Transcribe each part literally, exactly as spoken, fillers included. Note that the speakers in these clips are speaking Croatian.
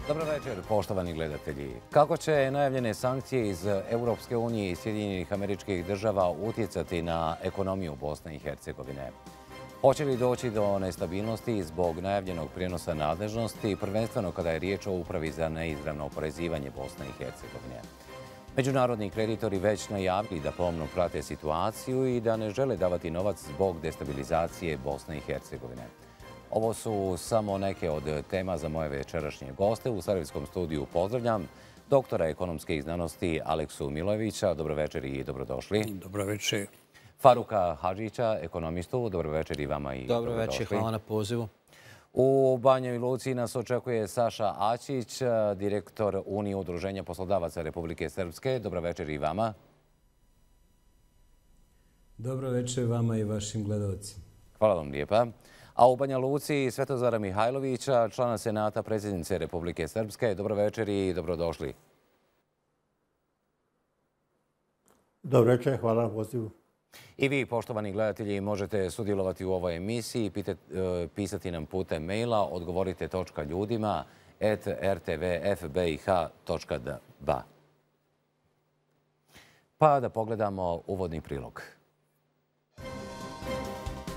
Dobro večer, poštovani gledatelji. Kako će najavljene sankcije iz Europske unije i Sjedinjenih Američkih Država utjecati na ekonomiju Bosne i Hercegovine? Hoće li doći do nestabilnosti zbog najavljenog prijenosa nadležnosti, prvenstveno kada je riječ o upravi za neizravno oporezivanje Bosne i Hercegovine? Međunarodni kreditori već najavili da pomno prate situaciju i da ne žele davati novac zbog destabilizacije Bosne i Hercegovine. Ovo su samo neke od tema za moje večerašnje goste. U Sarajevskom studiju pozdravljam doktora ekonomske znanosti Aleksu Milojevića. Dobro večer i dobrodošli. Dobro večer. Faruka Hadžića, ekonomistu. Dobro večer i vama i Dobro dobrodošli. večer, hvala na pozivu. U Banjoj Luci nas očekuje Saša Aćić, direktor Unije udruženja poslodavaca Republike Srpske. Dobro večer i vama. Dobro večer vama i vašim gledalcima. Hvala vam lijepa. A u Banja Luci Svetozara Mihajlovića, člana Senata predsjednice Republike Srpske. Dobro večer i dobrodošli. Dobro večer, hvala na pozivu. I vi, poštovani gledatelji, možete sudjelovati u ovoj emisiji, pisati nam putem maila odgovorite točka ljudima at r t v f b i h točka d b. Pa da pogledamo uvodni prilog.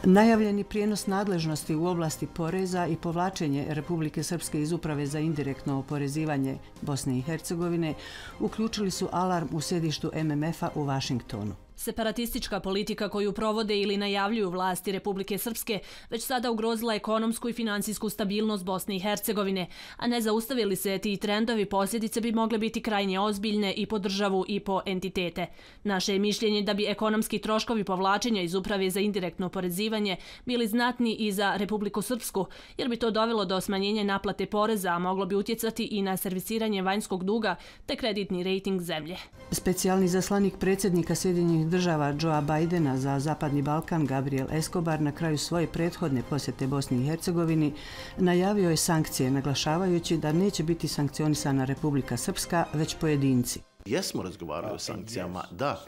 Najavljeni prijenos nadležnosti u oblasti poreza i povlačenje Republike Srpske iz Uprave za indirektno oporezivanje Bosne i Hercegovine uključili su alarm u sjedištu M M F-a u Vašingtonu. Separatistička politika koju provode ili najavljuju vlasti Republike Srpske već sada ugrozila ekonomsku i finansijsku stabilnost Bosne i Hercegovine, a ne zaustavili se ti trendovi, posljedice bi mogle biti krajnje ozbiljne i po državu i po entitete. Naše je mišljenje da bi ekonomski troškovi povlačenja iz Uprave za indirektno oporezivanje bili znatni i za Republiku Srpsku, jer bi to dovelo do smanjenja naplate poreza, a moglo bi utjecati i na servisiranje vanjskog duga te kreditni rejting zemlje. Specijalni zaslanik predsjednika Sjedinjenih Država Joea Bidena za Zapadni Balkan Gabriel Escobar na kraju svoje prethodne posjete Bosni i Hercegovini najavio je sankcije, naglašavajući da neće biti sankcionisana Republika Srpska, već pojedinci. Jesmo razgovarali o sankcijama, da.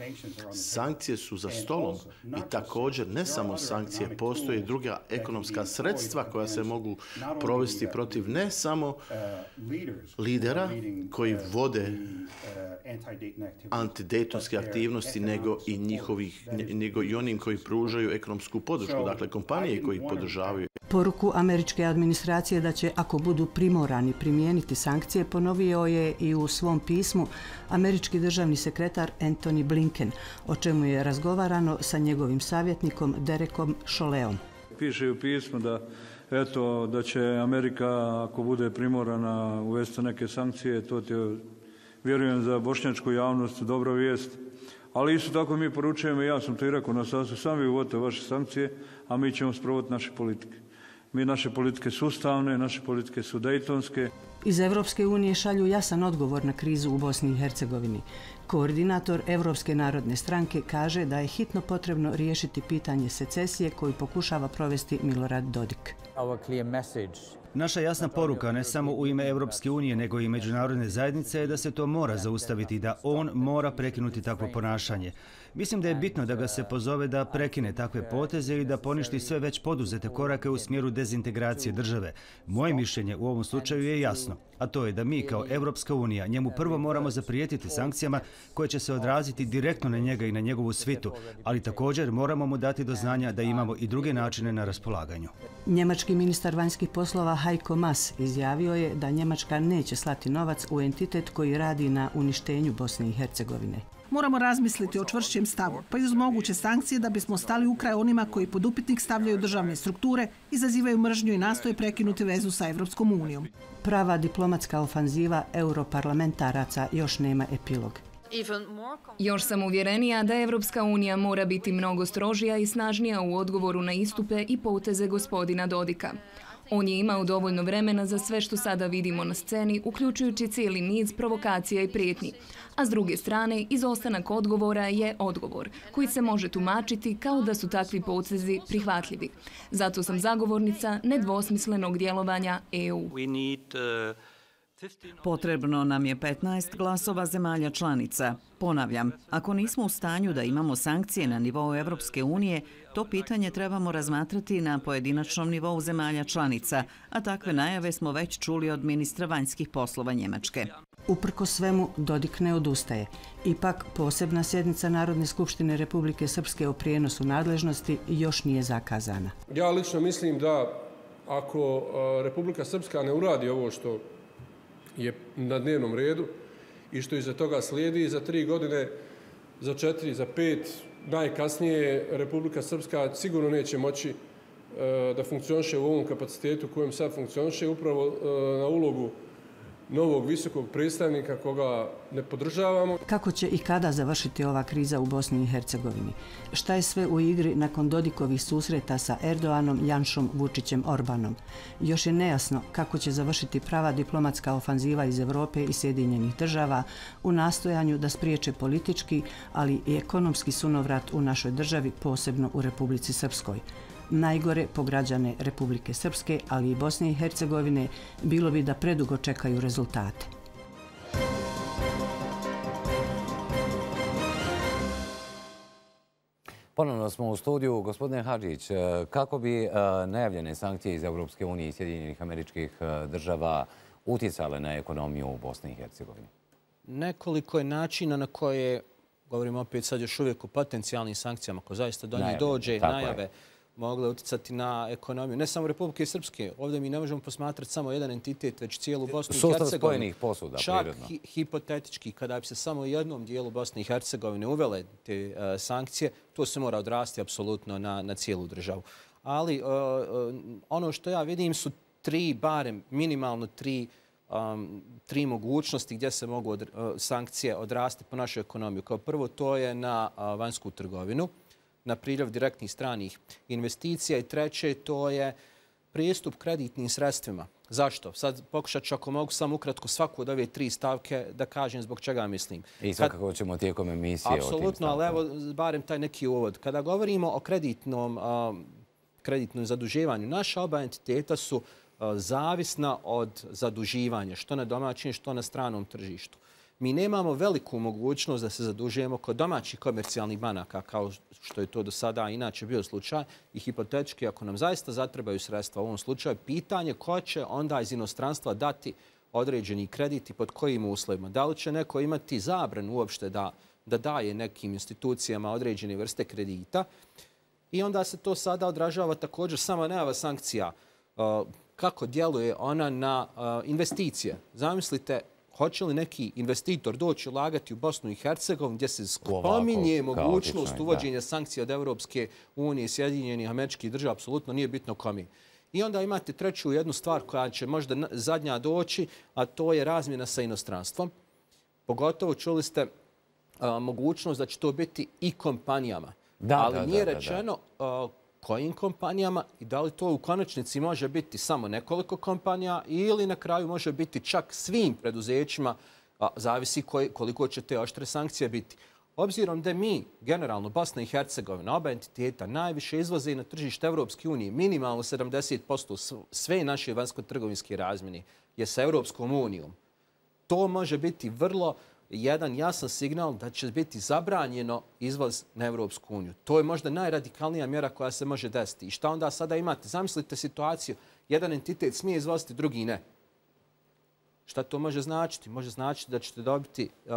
Sankcije su za stolom i također ne samo sankcije, postoje druga ekonomska sredstva koja se mogu provesti protiv ne samo lidera koji vode antidejtonske aktivnosti, nego i njihovih, nego i onim koji pružaju ekonomsku podršku, dakle kompanije koji podržavaju. Poruku američke administracije da će, ako budu primorani primijeniti sankcije, ponovio je i u svom pismu američki državni sekretar Antony Blinken, o čemu je razgovarano sa njegovim savjetnikom Derekom Šoleom. Piše u pismu da, eto, da će Amerika, ako bude primorana uvesti neke sankcije, to ti je, vjerujem, za bošnjačku javnost dobra vijest. Ali isto tako mi poručujemo, ja sam to i rekao na sastanku, sami uvodite vaše sankcije, a mi ćemo sprovoditi naše politike. Mi naše politike su ustavne, naše politike su dejtonske. Iz Evropske unije šalju jasan odgovor na krizu u Bosni i Hercegovini. Koordinator Evropske narodne stranke kaže da je hitno potrebno riješiti pitanje secesije koju pokušava provesti Milorad Dodik. Naša jasna poruka, ne samo u ime Evropske unije, nego i međunarodne zajednice, je da se to mora zaustaviti, da on mora prekinuti takvo ponašanje. Mislim da je bitno da ga se pozove da prekine takve poteze ili da poništi sve već poduzete korake u smjeru dezintegracije države. Moje mišljenje u ovom slučaju je jasno, a to je da mi kao Evropska unija njemu prvo moramo zaprijetiti sankcijama koje će se odraziti direktno na njega i na njegovu svitu, ali također moramo mu dati do znanja da imamo i druge načine na raspolaganju. Njemački ministar vanjskih poslova Heiko Maas izjavio je da Njemačka neće slati novac u entitet koji radi na uništenju Bosne i Hercegovine. Moramo razmisliti o čvršćem stavu, pa i uz moguće sankcije da bismo stali u kraj onima koji pod upitnik stavljaju državne strukture, izazivaju mržnju i nastoje prekinuti vezu sa Evropskom unijom. Prava diplomatska ofanziva europarlamentaraca još nema epilog. Još sam uvjerenija da Evropska unija mora biti mnogo strožija i snažnija u odgovoru na istupe i poteze gospodina Dodika. On je imao dovoljno vremena za sve što sada vidimo na sceni, uključujući cijeli niz provokacija i prijetnji. A s druge strane, izostanak odgovora je odgovor, koji se može tumačiti kao da su takvi potezi prihvatljivi. Zato sam zagovornica nedvosmislenog djelovanja E U. Potrebno nam je petnaest glasova zemalja članica. Ponavljam, ako nismo u stanju da imamo sankcije na nivou Evropske unije, to pitanje trebamo razmatrati na pojedinačnom nivou zemalja članica, a takve najave smo već čuli od ministra vanjskih poslova Njemačke. Uprko svemu, Dodik ne odustaje. Ipak, posebna sjednica Narodne skupštine Republike Srpske o prijenosu nadležnosti još nije zakazana. Ja lično mislim da ako Republika Srpska ne uradi ovo što je na dnevnom redu i što iza toga slijedi, za tri godine, za četiri, za pet, najkasnije Republika Srpska sigurno neće moći da funkcioniše u ovom kapacitetu kojem sad funkcioniše, upravo na ulogu novog visokog predstavnika koga ne podržavamo. Kako će i kada završiti ova kriza u Bosni i Hercegovini? Šta je sve u igri nakon Dodikovih susreta sa Erdoganom, Janšom, Vučićem, Orbanom? Još je nejasno kako će završiti prava diplomatska ofanziva iz Evrope i Sjedinjenih država u nastojanju da spriječe politički, ali i ekonomski sunovrat u našoj državi, posebno u Republici Srpskoj. Najgore po građane Republike Srpske, ali i Bosne i Hercegovine, bilo bi da predugo čekaju rezultate. Ponovno smo u studiju. Gospodine Hadžić, kako bi najavljene sankcije iz Evropske unije i Sjedinjenih Američkih Država utjecale na ekonomiju u Bosni i Hercegovini? Nekoliko je načina na koje, govorimo opet sad još uvijek o potencijalnim sankcijama, ako zaista do njih dođe, najave, mogle utjecati na ekonomiju. Ne samo Republike Srpske. Ovdje mi ne možemo posmatrati samo jedan entitet, već cijelu Bosnu i Hercegovinu. Sustav spojenih posuda, prirodno. Čak hipotetički, kada bi se samo u jednom dijelu Bosne i Hercegovine uvele te sankcije, to se mora odrasti apsolutno na cijelu državu. Ali ono što ja vidim su tri, barem minimalno tri, tri mogućnosti gdje se mogu sankcije odrasti po našoj ekonomiji. Kao prvo, to je na vanjsku trgovinu, na priljev direktnih stranih investicija i treće, to je pristup kreditnim sredstvima. Zašto? Sad pokušat ću, ako mogu samo ukratko svaku od ove tri stavke da kažem zbog čega mislim. I svakako ćemo tijekom emisije o tim stavkama. Apsolutno, ali evo barem taj neki uvod. Kada govorimo o kreditnom, kreditnom zaduživanju, naša oba entiteta su zavisna od zaduživanja, što na domaćem, što na stranom tržištu. Mi nemamo veliku mogućnost da se zadužujemo kod domaćih komercijalnih banaka, kao što je to do sada inače bio slučaj. I hipotetički, ako nam zaista zatrebaju sredstva u ovom slučaju, pitanje ko će onda iz inostranstva dati određeni kredit i pod kojim uslovima. Da li će neko imati zabranu uopšte da, da daje nekim institucijama određene vrste kredita. I onda se to sada odražava također sama najava sankcija. Kako djeluje ona na investicije? Zamislite, hoće li neki investitor doći ulagati u Bosnu i Hercegovinu gdje se spominje mogućnost uvođenja sankcija od Evropske unije i Sjedinjenih Američkih Država, apsolutno nije bitno kome. I onda imate treću jednu stvar koja će možda zadnja doći, a to je razmjena sa inostranstvom. Pogotovo čuli ste mogućnost da će to biti i kompanijama. Ali nije rečeno kojim kompanijama i da li to u konačnici može biti samo nekoliko kompanija ili na kraju može biti čak svim preduzećima, zavisi koliko će te oštre sankcije biti. Obzirom da mi, generalno Bosna i Hercegovina, oba entiteta najviše izvoze na tržište Evropske unije, minimalno sedamdeset posto sve naše vanjsko-trgovinske razmjene je sa Evropskom unijom. To može biti vrlo jedan jasan signal da će biti zabranjeno izvoz na Evropsku uniju. To je možda najradikalnija mjera koja se može desiti. I šta onda sada imate? Zamislite situaciju, jedan entitet smije izvoziti, drugi ne. Šta to može značiti? Može značiti da ćete dobiti uh,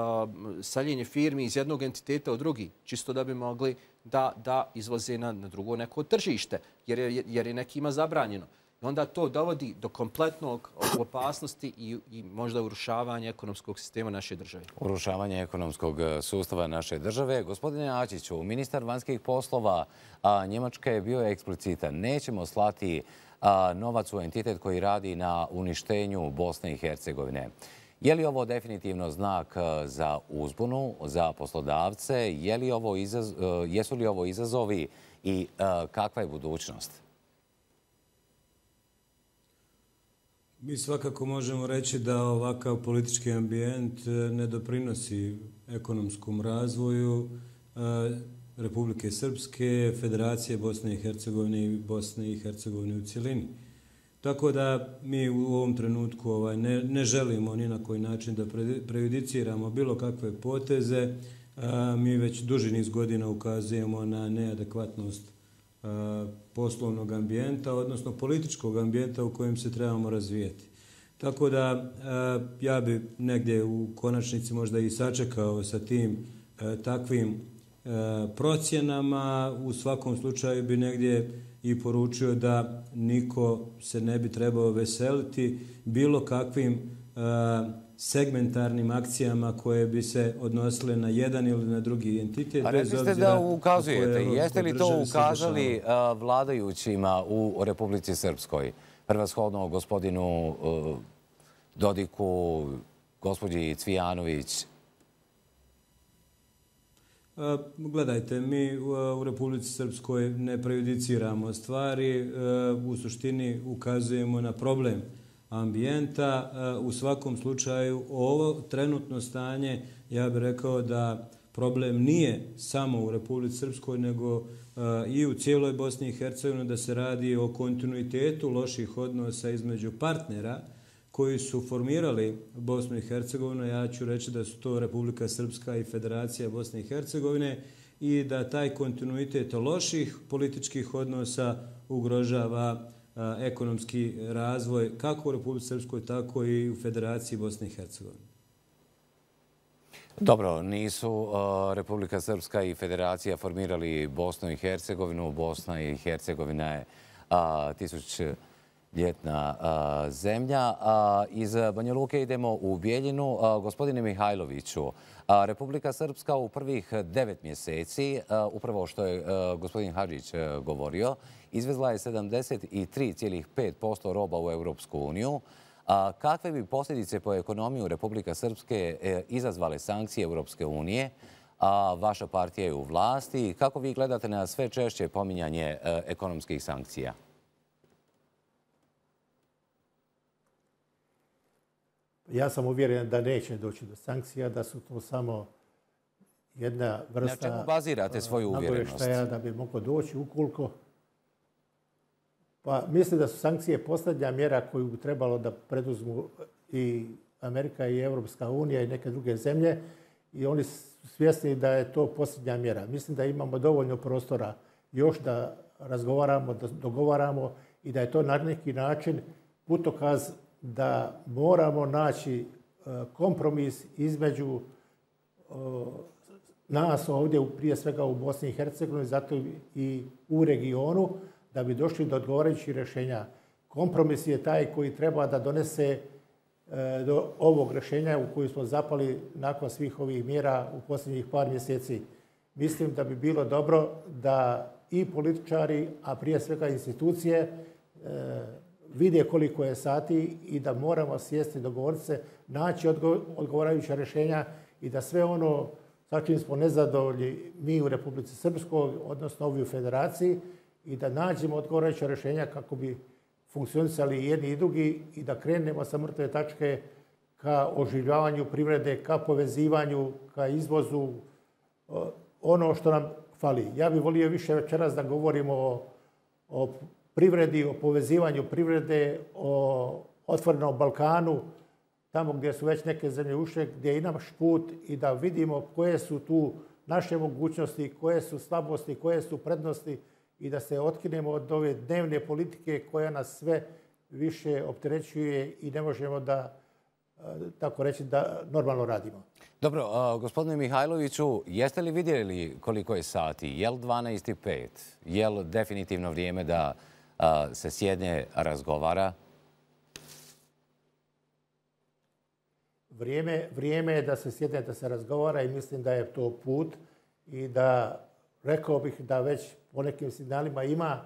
seljenje firmi iz jednog entiteta u drugi, čisto da bi mogli da, da izvoze na, na drugo neko tržište, jer je, jer je nekima zabranjeno. I onda to dovodi do kompletnog opasnosti i, i možda urušavanja ekonomskog sistema naše države. Urušavanje ekonomskog sustava naše države. Gospodine Ačiću, ministar vanjskih poslova a, Njemačke je bio eksplicitan. Nećemo slati a, novac u entitet koji radi na uništenju Bosne i Hercegovine. Je li ovo definitivno znak za uzbunu, za poslodavce? Je li ovo izaz, jesu li ovo izazovi i a, kakva je budućnost? Mi svakako možemo reći da ovakav politički ambijent ne doprinosi ekonomskom razvoju Republike Srpske, Federacije Bosne i Hercegovine i Bosne i Hercegovine u cjelini. Tako da mi u ovom trenutku ovaj, ne, ne želimo ni na koji način da prejudiciramo bilo kakve poteze. A, mi već duži niz godina ukazujemo na neadekvatnost a, poslovnog ambijenta, odnosno političkog ambijenta u kojem se trebamo razvijeti. Tako da a, ja bi negdje u konačnici možda i sačekao sa tim a, takvim a, procjenama. U svakom slučaju bi negdje i poručio da niko se ne bi trebao veseliti bilo kakvim a, segmentarnim akcijama koje bi se odnosile na jedan ili na drugi entitet. A rekli ste da ukazujete. Jeste li to ukazali vladajućima u Republici Srpskoj? Prvashodno gospodinu Dodiku, gospođi Cvijanović? Gledajte, mi u Republici Srpskoj ne prejudiciramo stvari, u suštini ukazujemo na problem ambijenta. U svakom slučaju, ovo trenutno stanje, ja bih rekao da problem nije samo u Republici Srpskoj, nego i u cijeloj Bosni i Hercegovini, da se radi o kontinuitetu loših odnosa između partnera koji su formirali Bosnu i Hercegovinu. Ja ću reći da su to Republika Srpska i Federacija Bosne i Hercegovine i da taj kontinuitet loših političkih odnosa ugrožava ekonomski razvoj kako u Republici Srpskoj, tako i u Federaciji Bosne i Hercegovine. Dobro, nisu Republika Srpska i Federacija formirali Bosnu i Hercegovinu. Bosna i Hercegovina je tisućljetna zemlja. Iz Banja Luke idemo u Bijeljinu. Gospodine Mihajloviću, Republika Srpska u prvih devet mjeseci, upravo što je gospodin Hadžić govorio, izvezla je sedamdeset tri zarez pet posto roba u Europsku uniju. Kakve bi posljedice po ekonomiju Republika Srpske izazvale sankcije Europske unije? Vaša partija je u vlasti. Kako vi gledate na sve češće pominjanje ekonomskih sankcija? Ja sam uvjeren da neće doći do sankcija, da su to samo jedna vrsta... Na čemu bazirate svoju uvjerenost? Da bi moglo doći ukoliko... Pa mislim da su sankcije posljednja mjera koju bi trebalo da preduzmu i Amerika i Europska unija i neke druge zemlje i oni su svjesni da je to posljednja mjera. Mislim da imamo dovoljno prostora još da razgovaramo, da dogovaramo i da je to na neki način putokaz da moramo naći kompromis između nas ovdje, prije svega u Bosni i Hercegovini, zato i u regionu, da bi došli do odgovarajućih rješenja. Kompromis je taj koji treba da donese do ovog rješenja u koju smo zapali nakon svih ovih mjera u posljednjih par mjeseci. Mislim da bi bilo dobro da i političari, a prije svega institucije, vide koliko je sati i da moramo sjesti, dogovoriti se, naći odgovarajuća rješenja i da sve ono sa čim smo nezadovoljni mi u Republici Srpskoj, odnosno ovi u Federaciji, i da nađemo odgovarajuća rješenja kako bi funkcionisali i jedni i drugi i da krenemo sa mrtve tačke ka oživljavanju privrede, ka povezivanju, ka izvozu, ono što nam fali. Ja bih volio više večeras da govorimo o, o privredi, o povezivanju privrede, o otvorenom Balkanu, tamo gdje su već neke zemlje ušle, gdje je i naš put i da vidimo koje su tu naše mogućnosti, koje su slabosti, koje su prednosti i da se otkinemo od ove dnevne politike koja nas sve više opterećuje i ne možemo da, tako reći, da normalno radimo. Dobro, gospodine Mihajloviću, jeste li vidjeli koliko je sati? Je li dvanaest i pet? Je li definitivno vrijeme da se sjedne, razgovara? Vrijeme, vrijeme je da se sjedne, da se razgovara i mislim da je to put i da rekao bih da već po nekim signalima ima,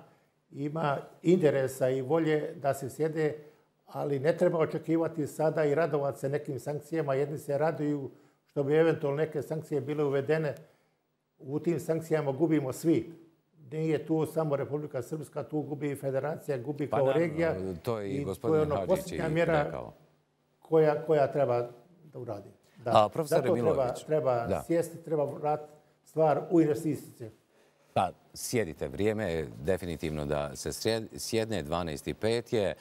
ima interesa i volje da se sjede, ali ne treba očekivati sada i radovati se nekim sankcijama. Jedni se raduju što bi eventualno neke sankcije bile uvedene. U tim sankcijama gubimo svi. Nije tu samo Republika Srpska, tu gubi i Federacija, gubi kao pa, regija. To je i gospodin Hadžić rekao. Koja, koja treba da uradi. Da. A, profesor Zato Milović. treba, treba sjesti, treba vratiti stvar u investicije. Pa sjedite, vrijeme je definitivno da se sjedne, dvanaest i pet je.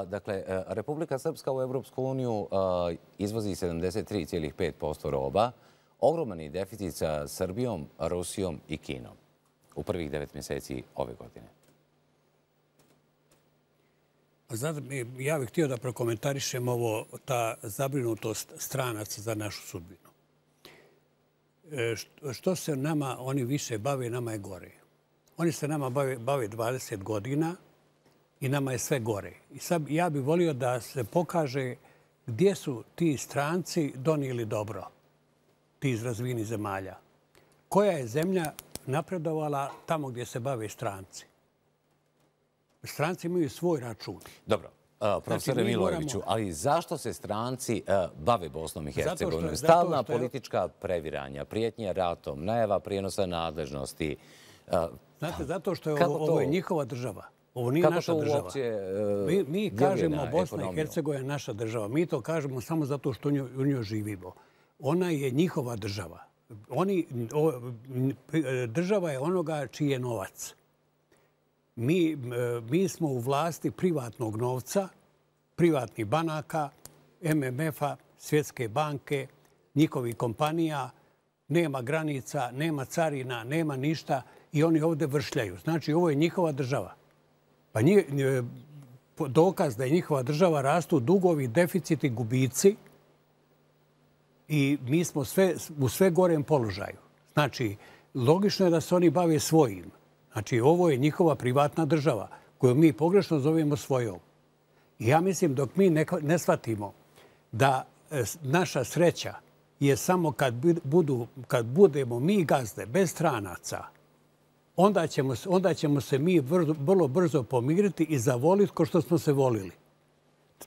Dakle, Republika Srpska u Evropsku uniju izvozi sedamdeset tri zarez pet posto roba, ogroman je deficit sa Srbijom, Rusijom i Kinom u prvih devet mjeseci ove godine. Znate, ja bih htio da prokomentarišem ovo, ta zabrinutost stranaca za našu sudbinu. Što se nama oni više bave, nama je gore. Oni se nama bave dvadeset godina i nama je sve gore. I sad ja bih volio da se pokaže gdje su ti stranci donijeli dobro, ti iz razvijenih zemalja. Koja je zemlja napredovala tamo gdje se bave stranci? Stranci imaju svoj račun. Dobro. Profesore Milojeviću, ali zašto se stranci bave Bosnom i Hercegovinom? Stalna politička previranja, prijetnje ratom, najava prijenosa nadležnosti. Znate, zato što je ovo njihova država. Ovo nije naša država. Mi kažemo Bosna i Hercegovina je naša država. Mi to kažemo samo zato što u njoj živimo. Ona je njihova država. Država je onoga čiji je novac. Mi, mi smo u vlasti privatnog novca, privatnih banaka, M M F-a, Svjetske banke, njihovih kompanija. Nema granica, nema carina, nema ništa i oni ovdje vršljaju. Znači, ovo je njihova država. Pa nji, dokaz da je njihova država rastu dugovi, deficiti, gubici i mi smo sve, u sve gorem položaju. Znači, logično je da se oni bave svojim. Znači, ovo je njihova privatna država koju mi pogrešno zovemo svojom. I ja mislim, dok mi ne, ne shvatimo da naša sreća je samo kad, budu, kad budemo mi gazde, bez stranaca, onda ćemo, onda ćemo se mi vrlo, vrlo brzo pomiriti i zavoliti ko što smo se volili.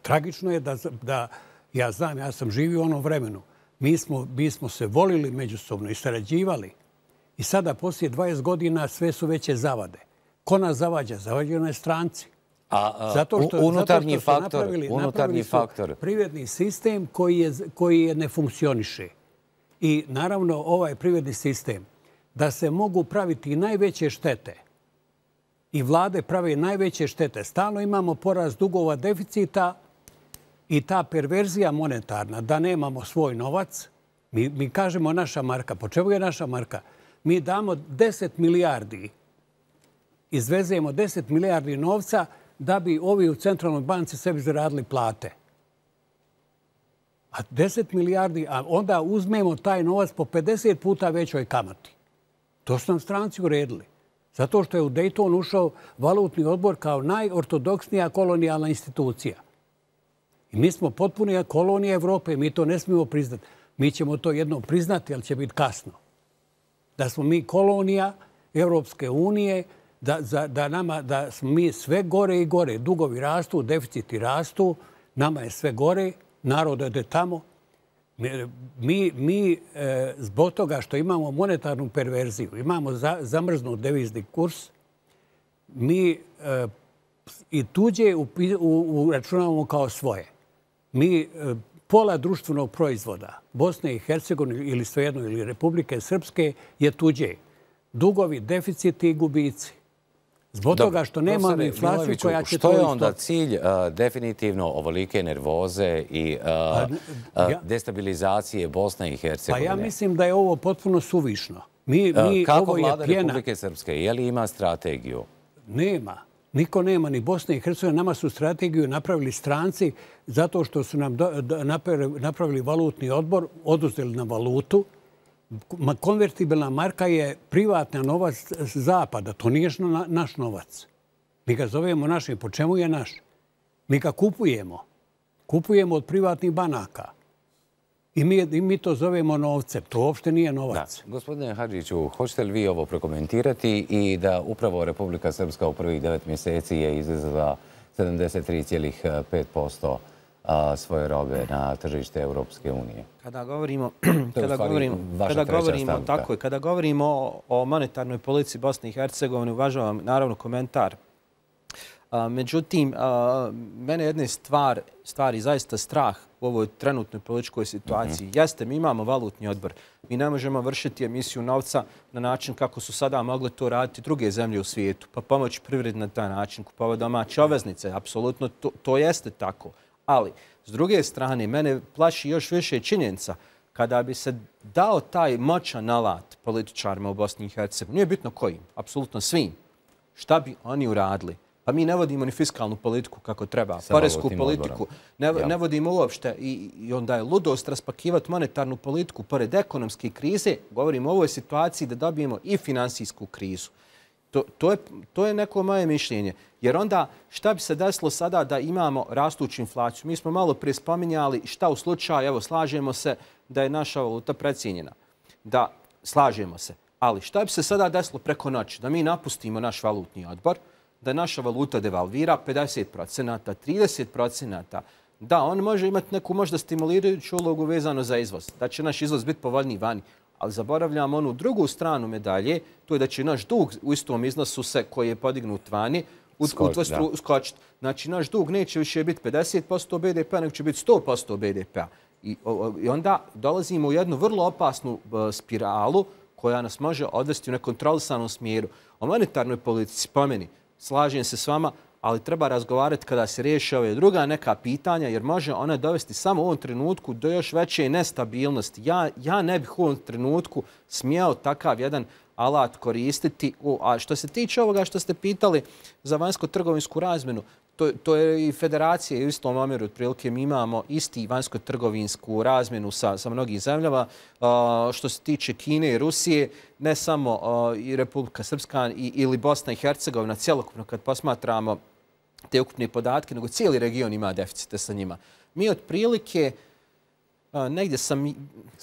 Tragično je da, da ja znam, ja sam živio u onom vremenu. Mi smo, mi smo se volili međusobno i sarađivali. I sada, poslije dvadeset godina, sve su veće zavade. Ko nas zavađa? Zavađaju nas stranci. A, zato što, unutarnji zato što faktor, napravili, unutarnji napravili faktor. Privredni sistem koji, je, koji je ne funkcioniše. I naravno ovaj privredni sistem, da se mogu praviti najveće štete i vlade prave najveće štete. Stalno imamo porast dugova, deficita i ta perverzija monetarna, da nemamo svoj novac. Mi, mi kažemo naša marka. Po čemu je naša marka? Mi damo deset milijardi, izvezemo deset milijardi novca da bi ovi u centralnoj banci sebi zaradili plate. A deset milijardi, a onda uzmemo taj novac po pedeset puta većoj kamati. To su nam stranci uredili. Zato što je u Dayton ušao valutni odbor kao najortodoksnija kolonijalna institucija. I mi smo potpunija kolonija Evrope. Mi to ne smijemo priznati. Mi ćemo to jednom priznati, ali će biti kasno. Da smo mi kolonija Evropske unije, da, za, da, nama, da smo mi sve gore i gore. Dugovi rastu, deficiti rastu, nama je sve gore, narod ode tamo. Mi, mi e, zbog toga što imamo monetarnu perverziju, imamo za, zamrznut devizni kurs, mi e, i tuđe uračunavamo kao svoje. Mi e, pola društvenog proizvoda Bosne i Hercegovine ili svejedno ili Republike Srpske je tuđe. Dugovi, deficiti i gubici. Zbog Dobre, toga što nemamo inflaciju koja će to... Što je onda cilj uh, definitivno ovolike nervoze i uh, pa, ja, destabilizacije Bosne i Hercegovine? Pa ja mislim da je ovo potpuno suvišno. Mi, mi, uh, kako ovo vlada je pjena... Republike Srpske? Je li ima strategiju? Nema. Niko nema, ni Bosna i Hercegovina. Nama su strategiju napravili stranci zato što su nam do, do, napravili valutni odbor, oduzeli na valutu. Konvertibilna marka je privatna novac zapada. To nije naš novac. Mi ga zovemo našim. Po čemu je naš? Mi ga kupujemo. Kupujemo od privatnih banaka. I mi, i mi to zovemo novcem. To uopšte nije novac. Da. Gospodine Hadžiću, hoćete li vi ovo prokomentirati i da upravo Republika Srpska u prvih devet mjeseci je izvezla sedamdeset tri zarez pet posto svoje robe na tržište Europske unije? Kada govorimo, kada govorimo, kada govorimo, tako je, kada govorimo o monetarnoj politici Bosne i Hercegovine, uvažavam naravno komentar. A, međutim, a, mene jedne stvar, stvari zaista strah u ovoj trenutnoj političkoj situaciji. Mm-hmm. Jeste, mi imamo valutni odbor. Mi ne možemo vršiti emisiju novca na način kako su sada mogle to raditi druge zemlje u svijetu, pa pomoći privredi na taj način, kupovati domaće obveznice. Apsolutno to, to jeste tako. Ali, s druge strane, mene plaši još više činjenica kada bi se dao taj moćan alat političarima u Bosni i Hercegovini, nije bitno kojim, apsolutno svim, šta bi oni uradili? Pa mi ne vodimo ni fiskalnu politiku kako treba, poresku politiku, ne, ne vodimo uopšte i, i onda je ludost raspakivati monetarnu politiku pored ekonomske krize, govorimo o ovoj situaciji da dobijemo i finansijsku krizu. To, to, je, to je neko moje mišljenje. Jer onda šta bi se desilo sada da imamo rastuću inflaciju? Mi smo malo prije spominjali šta u slučaju, evo slažemo se da je naša valuta precijenjena. Da, slažemo se. Ali šta bi se sada desilo preko noći? Da mi napustimo naš valutni odbor, da naša valuta devalvira pedeset procenata, trideset procenata. Da, on može imati neku možda stimulirajuću ulogu vezano za izvoz. Da će naš izvoz biti povoljniji vani. Ali zaboravljamo onu drugu stranu medalje, to je da će naš dug u istom iznosu se koji je podignut vani udvostručiti. Skočiti. Znači, naš dug neće više biti pedeset posto B D P-a, nego će biti sto posto B D P-a. I, I onda dolazimo u jednu vrlo opasnu uh, spiralu koja nas može odvesti u nekontrolisanom smjeru. O monetarnoj politici, po meni, slažem se s vama, ali treba razgovarati kada se riješi ove druga neka pitanja, jer može ona dovesti samo u ovom trenutku do još veće nestabilnosti. Ja, ja ne bih u ovom trenutku smijao takav jedan alat koristiti. A što se tiče ovoga što ste pitali za vanjsko-trgovinsku razmjenu, to, to je i federacija u istom omjeru. Otprilike mi imamo isti vanjsko-trgovinsku razmjenu sa, sa mnogim zemljama. Uh, što se tiče Kine i Rusije, ne samo uh, i Republika Srpska i, ili Bosna i Hercegovina, cjelokupno kad posmatramo te ukupne podatke, nego cijeli region ima deficite sa njima. Mi otprilike, uh, negdje sam,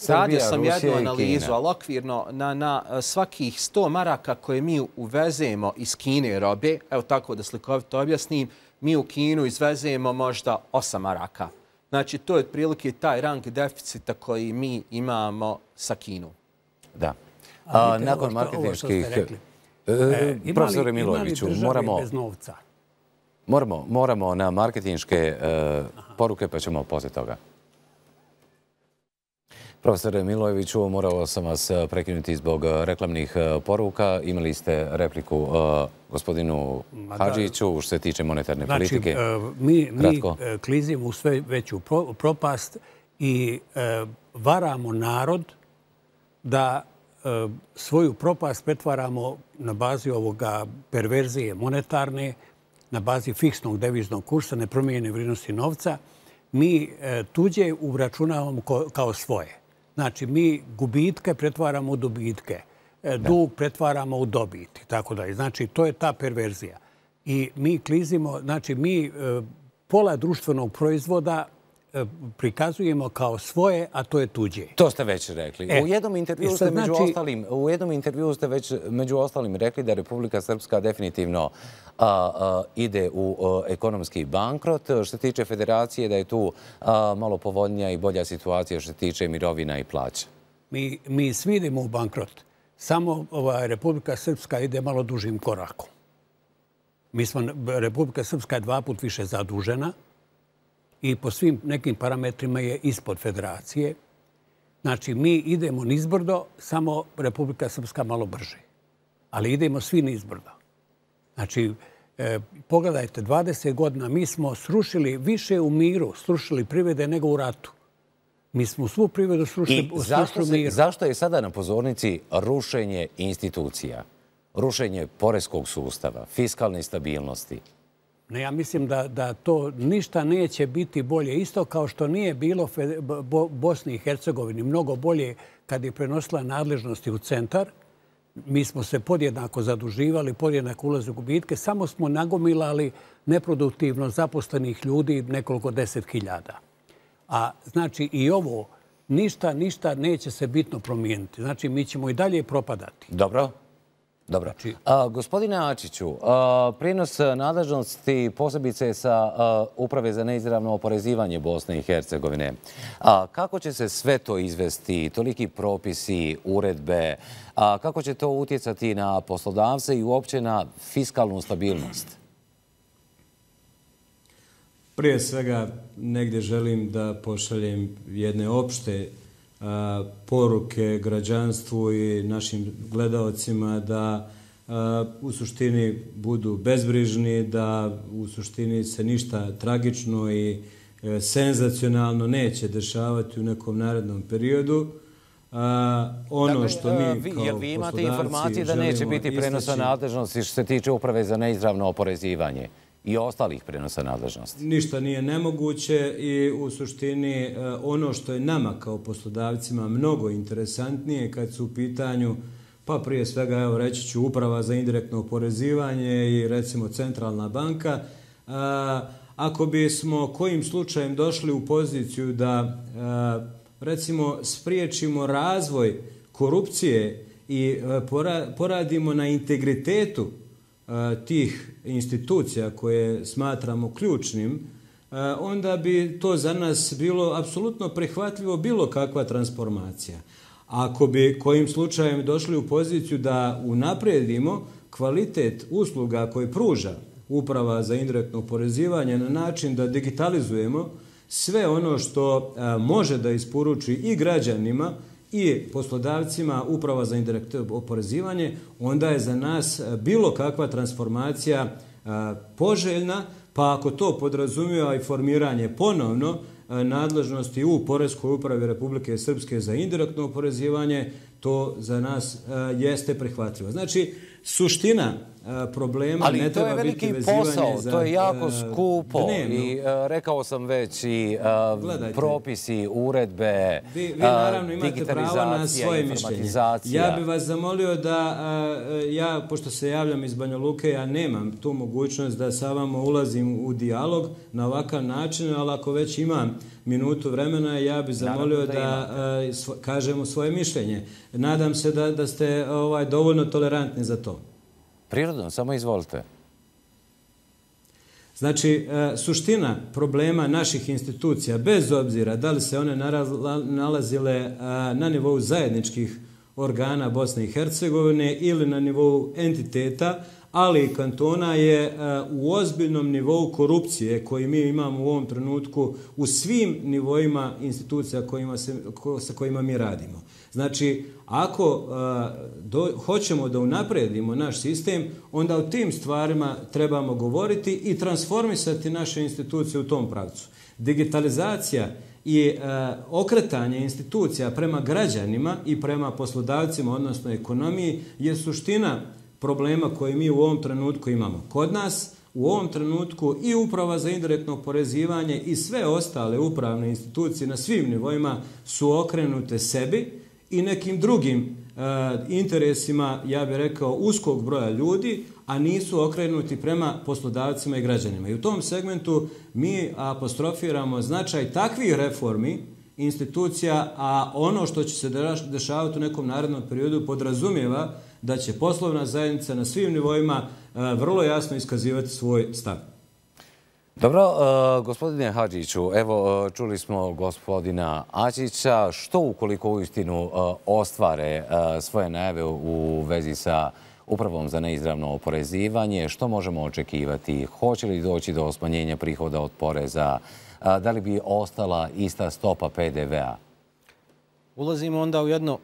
radio sam jednu analizu, ali okvirno na, na svakih sto maraka koje mi uvezemo iz Kine robe, evo tako da slikovito objasnim, mi u Kinu izvezemo možda osam maraka. Znači, to je otprilike taj rang deficita koji mi imamo sa Kinom. Da. A, a, nakon marketinških... E, profesore Milojeviću, moramo, moramo, moramo na marketinške e, poruke, pa ćemo poslije toga. Profesore Milojeviću, morao sam vas prekinuti zbog reklamnih poruka. Imali ste repliku uh, gospodinu Hadžiću što se tiče monetarne znači, politike. Uh, mi, mi klizimo u sve veću pro, propast i uh, varamo narod da uh, svoju propast pretvaramo na bazi ovoga perverzije monetarne, na bazi fiksnog deviznog kursa, nepromijenjene vrijednosti novca. Mi uh, tuđe uračunavamo ko, kao svoje. Znači, mi gubitke pretvaramo u dobitke, dug pretvaramo u dobit i tako dalje. Znači, to je ta perverzija. I mi klizimo, znači, mi pola društvenog proizvoda prikazujemo kao svoje, a to je tuđe. To ste već rekli. E, u jednom intervju ste među znači, ostalim, u jednom intervju ste već među ostalim rekli da Republika Srpska definitivno a, a, ide u a, ekonomski bankrot. Što se tiče federacije, da je tu a, malo povoljnija i bolja situacija što se tiče mirovina i plaća. Mi, mi svi idemo u bankrot. Samo ova Republika Srpska ide malo dužim korakom. Mi smo, Republika Srpska je dva put više zadužena i po svim nekim parametrima je ispod federacije. Znači, mi idemo nizbrdo, samo Republika Srpska malo brže. Ali idemo svi nizbrdo. Znači, e, pogledajte, dvadeset godina mi smo srušili više u miru, srušili privrede nego u ratu. Mi smo svu privredu srušili u miru. Zašto je sada na pozornici rušenje institucija, rušenje poreskog sustava, fiskalne stabilnosti? Ne, ja mislim da, da to ništa neće biti bolje. Isto kao što nije bilo Bo, Bosni i Hercegovini mnogo bolje kad je prenosila nadležnosti u centar. Mi smo se podjednako zaduživali, podjednako ulaze u gubitke. Samo smo nagomilali neproduktivno zaposlenih ljudi nekoliko deset hiljada. A znači i ovo ništa, ništa neće se bitno promijeniti. Znači mi ćemo i dalje propadati. Dobro. Dobro. A, gospodine Ačiću, a, prijenos nadležnosti posebice sa a, Uprave za neizravno oporezivanje Bosne i Hercegovine. A, kako će se sve to izvesti, toliki propisi, uredbe, a, kako će to utjecati na poslodavce i uopće na fiskalnu stabilnost? Prije svega negdje želim da pošaljem jedne opšte a, poruke građanstvu i našim gledaocima da a, u suštini budu bezbrižni, da u suštini se ništa tragično i e, senzacionalno neće dešavati u nekom narednom periodu. A, ono dakle, što mi kao jer vi imate poslodavci informacije da neće biti prenosa nadležnosti što se tiče uprave za neizravno oporezivanje i ostalih prenosa nadležnosti. Ništa nije nemoguće i u suštini ono što je nama kao poslodavcima mnogo interesantnije kad su u pitanju, pa prije svega evo reći ću uprava za indirektno oporezivanje i recimo centralna banka, a, ako bismo kojim slučajem došli u poziciju da a, recimo spriječimo razvoj korupcije i poradimo na integritetu tih institucija koje smatramo ključnim, onda bi to za nas bilo apsolutno prihvatljivo bilo kakva transformacija. Ako bi kojim slučajem došli u poziciju da unaprijedimo kvalitet usluga koje pruža uprava za indirektno oporezivanje na način da digitalizujemo sve ono što može da isporuči i građanima i poslodavcima uprava za indirektno oporezivanje, onda je za nas bilo kakva transformacija poželjna, pa ako to podrazumijeva i formiranje ponovno nadležnosti u Poreskoj upravi Republike Srpske za indirektno oporezivanje, to za nas jeste prihvatljivo. Znači, suština problema ali ne treba biti vezivanje za... Ali to je veliki posao, to je jako skupo dnevno. I rekao sam već i uh, propisi, uredbe, vi, vi naravno imate pravo na svoje mišljenje. Ja bih vas zamolio da, uh, ja, pošto se javljam iz Banja Luke, ja nemam tu mogućnost da sa vama ulazim u dijalog na ovakav način, ali ako već imam minutu vremena, ja bih zamolio da, da uh, svo, kažemo svoje mišljenje. Nadam se da, da ste ovaj, dovoljno tolerantni za to. Prirodno, samo izvolite. Znači, suština problema naših institucija, bez obzira da li se one nalazile na nivou zajedničkih organa Bosne i Hercegovine ili na nivou entiteta, ali i kantona, je u ozbiljnom nivou korupcije koji mi imamo u ovom trenutku u svim nivoima institucija kojima se, ko, sa kojima mi radimo. Znači, ako uh, do, hoćemo da unaprijedimo naš sistem, onda o tim stvarima trebamo govoriti i transformisati naše institucije u tom pravcu. Digitalizacija i uh, okretanje institucija prema građanima i prema poslodavcima, odnosno ekonomiji, je suština problema koje mi u ovom trenutku imamo. Kod nas u ovom trenutku i uprava za indirektno oporezivanje i sve ostale upravne institucije na svim nivoima su okrenute sebi i nekim drugim e, interesima, ja bih rekao, uskog broja ljudi, a nisu okrenuti prema poslodavcima i građanima. I u tom segmentu mi apostrofiramo značaj takvih reformi institucija, a ono što će se dešavati u nekom narednom periodu podrazumijeva da će poslovna zajednica na svim nivoima e, vrlo jasno iskazivati svoj stav. Dobro, uh, gospodine Hadžiću, evo uh, čuli smo gospodina Ačića. Što ukoliko uistinu uh, ostvare uh, svoje najave u vezi sa upravom za neizravno oporezivanje? Što možemo očekivati? Hoće li doći do smanjenja prihoda od poreza? Uh, da li bi ostala ista stopa P D V-a? Ulazimo onda u jedno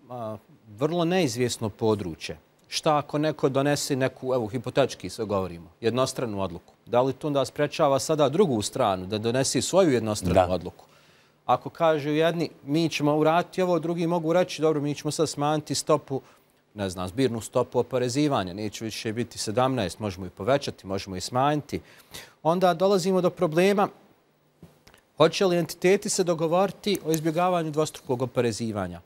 a, vrlo neizvjesno područje. Šta ako neko donese neku, evo, hipotetički sve govorimo, jednostranu odluku? Da li to onda sprečava sada drugu stranu da donesi svoju jednostranu da. odluku? Ako kažu jedni, mi ćemo uraditi ovo, drugi mogu reći, dobro, mi ćemo sad smanjiti stopu, ne znam, zbirnu stopu oporezivanja, neće više biti sedamnaest, možemo i povećati, možemo i smanjiti. Onda dolazimo do problema, hoće li entiteti se dogovoriti o izbjegavanju dvostrukog oporezivanja?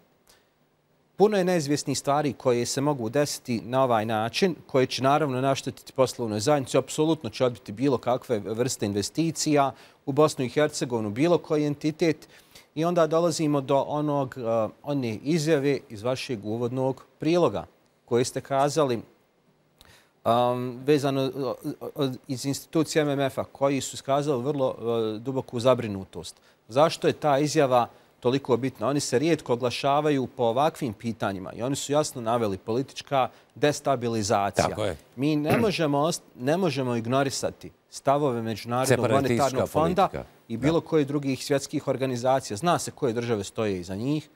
Puno je neizvjesnih stvari koje se mogu desiti na ovaj način, koje će naravno naštetiti poslovnoj zajednici, apsolutno će odbiti bilo kakve vrste investicija u Bosnu i Hercegovinu, bilo koji entitet. I onda dolazimo do onog, uh, one izjave iz vašeg uvodnog priloga koje ste kazali um, vezano uh, iz institucije M M F-a, koji su skazali vrlo uh, duboku zabrinutost. Zašto je ta izjava toliko bitna. Oni se rijetko oglašavaju po ovakvim pitanjima i oni su jasno naveli politička destabilizacija. Tako je. Mi ne možemo, ne možemo ignorisati stavove Međunarodnog monetarnog fonda i bilo koje drugih svjetskih organizacija. Zna se koje države stoje iza njih.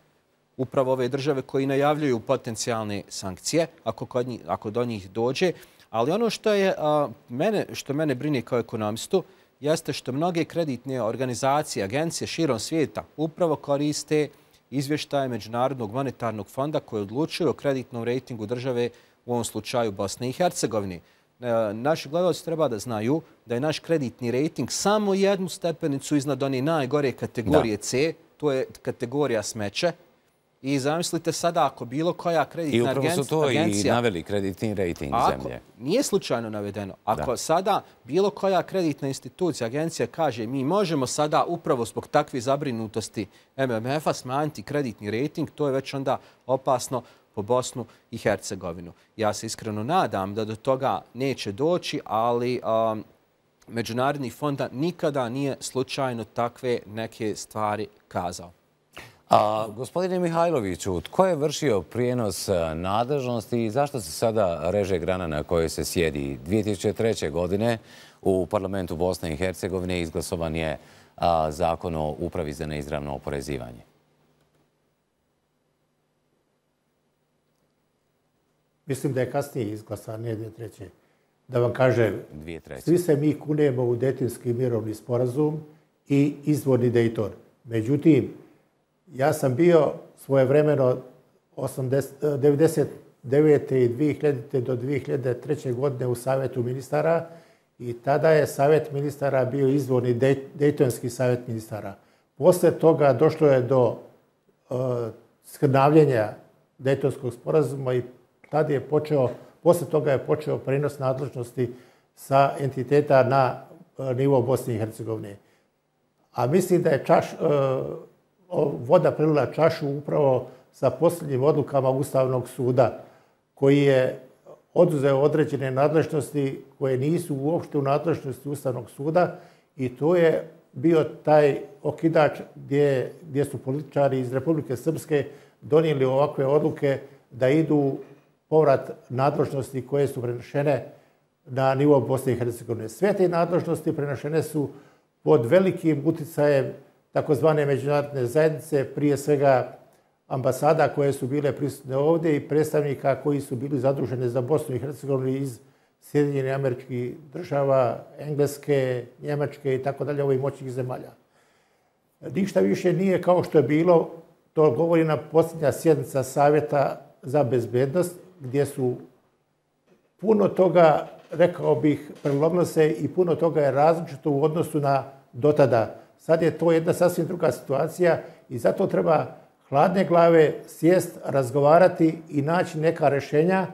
Upravo ove države koji najavljuju potencijalne sankcije ako, kod njih, ako do njih dođe. Ali ono što, je, a, mene, što mene brine kao ekonomistu jeste što mnoge kreditne organizacije, agencije širom svijeta upravo koriste izvještaje Međunarodnog monetarnog fonda koji odlučuju o kreditnom rejtingu države, u ovom slučaju Bosne i Hercegovine. Naši gledalci treba da znaju da je naš kreditni rejting samo jednu stepenicu iznad one najgore kategorije C, to je kategorija smeće. I zamislite sada ako bilo koja kreditna agencija... I upravo su to agencija, i naveli kreditni rejting ako, zemlje. Nije slučajno navedeno. Ako da. sada bilo koja kreditna institucija, agencija kaže mi možemo sada upravo zbog takve zabrinutosti M M F-a smanjiti kreditni rejting, to je već onda opasno po Bosnu i Hercegovinu. Ja se iskreno nadam da do toga neće doći, ali um, Međunarodni fond nikada nije slučajno takve neke stvari kazao. A, gospodine Mihajloviću, tko je vršio prijenos nadležnosti i zašto se sada reže grana na kojoj se sjedi? dvije tisuće treće. godine u parlamentu Bosne i Hercegovine izglasovan je a, zakon o upravi za neizravno oporezivanje. Mislim da je kasnije izglasan, ne dvije tisuće treće. Da vam kažem, svi se mi kunemo u Dejtonski mirovni sporazum i izvorni Dejton. Međutim, ja sam bio svojevremeno devedeset devete. i dvije hiljadite. do dvije hiljade treće. godine u Savjetu ministara i tada je Savjet ministara bio izvorni Dejtonski savjet ministara. Posle toga došlo je do uh, skrnavljenja Dejtonskog sporazuma i tada je počeo, posle toga je počeo prenos nadležnosti sa entiteta na uh, nivo Bosne i Hercegovine. A mislim da je čaš... Uh, voda prelila čašu upravo sa posljednjim odlukama Ustavnog suda koji je oduzeo određene nadležnosti koje nisu uopšte u nadležnosti Ustavnog suda i to je bio taj okidač gdje, gdje su političari iz Republike Srpske donijeli ovakve odluke da idu povrat nadležnosti koje su prenešene na nivo Bosne i Hercegovine. Sve te nadležnosti prenešene su pod velikim uticajem takozvane međunarodne zajednice, prije svega ambasada koje su bile prisutne ovdje i predstavnika koji su bili zaduženi za Bosnu i Hercegovinu iz Sjedinjenih Američkih Država, Engleske, Njemačke i tako dalje, ovih moćnih zemalja. Ništa više nije kao što je bilo, to govori na posljednja sjednica Savjeta za bezbednost, gdje su puno toga, rekao bih, prelomilo se i puno toga je različito u odnosu na dotada. Sad je to jedna sasvim druga situacija i zato treba hladne glave sjest, razgovarati i naći neka rješenja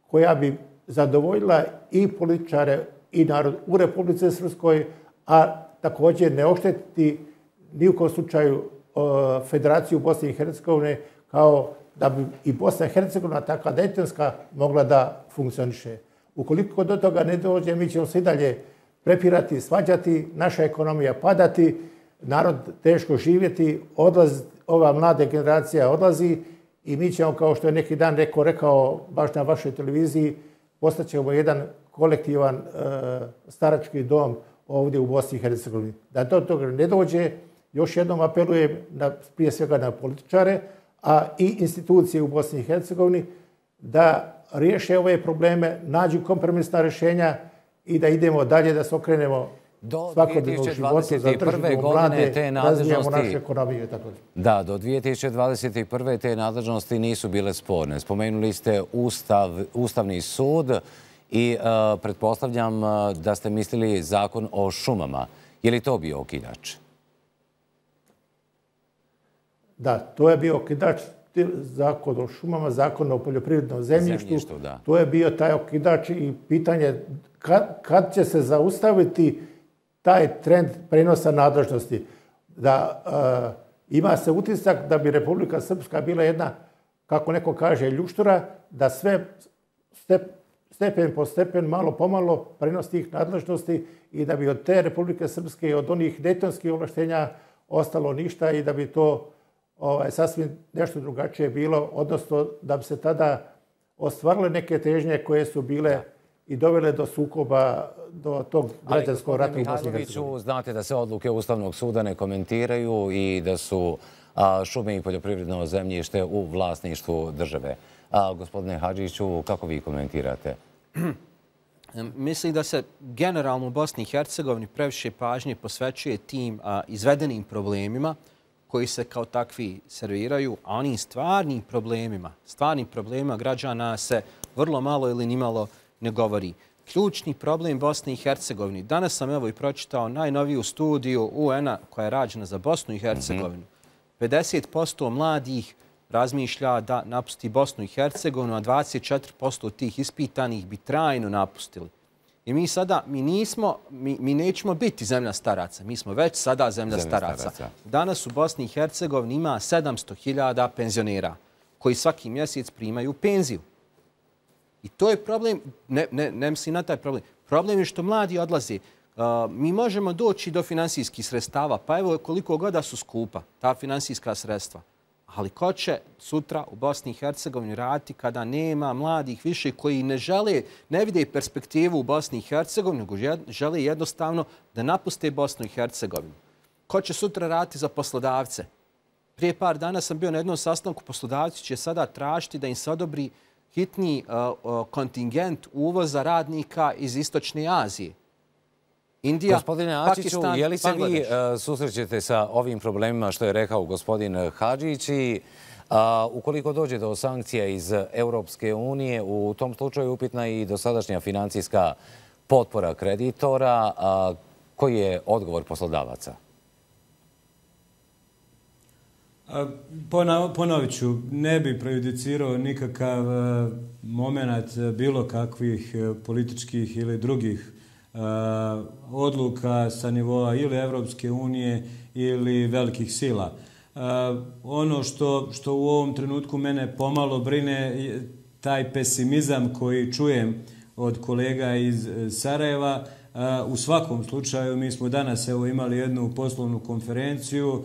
koja bi zadovoljila i političare i narod u Republici Srpskoj, a također ne oštetiti ni u kom slučaju Federaciju Bosne i Hercegovine kao da bi i Bosna i Hercegovina takva dejtonska mogla da funkcioniše. Ukoliko do toga ne dođe, mi ćemo se i dalje prepirati, svađati, naša ekonomija padati, narod teško živjeti, odlaz, ova mlada generacija odlazi i mi ćemo, kao što je neki dan neko rekao baš na vašoj televiziji, postaćemo jedan kolektivan e, starački dom ovdje u Bosni i Hercegovini. Da do toga ne dođe, još jednom apelujem na, prije svega na političare, a i institucije u Bosni i Hercegovini da riješe ove probleme, nađu kompromisna rješenja i da idemo dalje, da se okrenemo svakodnevnog života, zadržimo mlade, razvijamo našu ekonomiju i tako dalje. Da, do dvije tisuće dvadeset prve. te nadležnosti nisu bile sporne. Spomenuli ste Ustav, Ustavni sud i uh, pretpostavljam da ste mislili zakon o šumama. Je li to bio okidač? Da, to je bio okidač, zakon o šumama, zakon o poljoprivrednom zemljištu. zemljištu da. To je bio taj okidač i pitanje kad, kad će se zaustaviti taj trend prenosa nadležnosti. Da uh, ima se utisak da bi Republika Srpska bila jedna, kako neko kaže, ljuštura, da sve step, stepen po stepen, malo pomalo prenos tih nadležnosti i da bi od te Republike Srpske i od onih dejtonskih ovlaštenja ostalo ništa i da bi to sasvim nešto drugačije bilo, odnosno da bi se tada ostvarile neke težnje koje su bile i dovele do sukoba, do tog građanskog rata u Bosni i Hercegovini. Znate da se odluke Ustavnog suda ne komentiraju i da su šume i poljoprivredno zemljište u vlasništvu države. Gospodine Hadžiću, kako vi komentirate? Mislim da se generalno u Bosni i Hercegovini previše pažnje posvećuje tim izvedenim problemima koji se kao takvi serviraju, a onim stvarnim problemima, stvarnim problemima građana se vrlo malo ili nimalo ne govori. Ključni problem Bosne i Hercegovine. Danas sam evo i pročitao najnoviju studiju U N-a koja je rađena za Bosnu i Hercegovinu. pedeset posto mladih razmišlja da napusti Bosnu i Hercegovinu, a dvadeset četiri posto tih ispitanih bi trajno napustili. I mi sada, mi nismo, mi, mi nećemo biti zemlja staraca. Mi smo već sada zemlja, zemlja staraca. staraca. Danas u Bosni i Hercegovini ima sedamsto hiljada penzionera koji svaki mjesec primaju penziju. I to je problem, ne, ne, ne mislim na taj problem. Problem je što mladi odlaze. Uh, mi možemo doći do finansijskih sredstava, pa evo koliko goda su skupa ta finansijska sredstva. Ali ko će sutra u Bosni i Hercegovini raditi kada nema mladih više koji ne žele, ne vide perspektivu u Bosni i Hercegovini, nego žele jednostavno da napuste Bosnu i Hercegovinu. Ko će sutra raditi za poslodavce? Prije par dana sam bio na jednom sastanku, poslodavci će sada tražiti da im se odobri hitni uh, uh, kontingent uvoza radnika iz Istočne Azije. Indija, Gospodine Ačiću, Pakistan, je li se vi Bangladeš? uh, susrećete sa ovim problemima što je rekao gospodin Hadžić i uh, ukoliko dođe do sankcija iz Europske unije, u tom slučaju upitna i dosadašnja financijska potpora kreditora, uh, koji je odgovor poslodavaca? Ponovit ću, ne bi prejudicirao nikakav moment bilo kakvih političkih ili drugih odluka sa nivoa ili Evropske unije ili velikih sila. Ono što, što u ovom trenutku mene pomalo brine, taj pesimizam koji čujem od kolega iz Sarajeva. U svakom slučaju, mi smo danas evo imali jednu poslovnu konferenciju.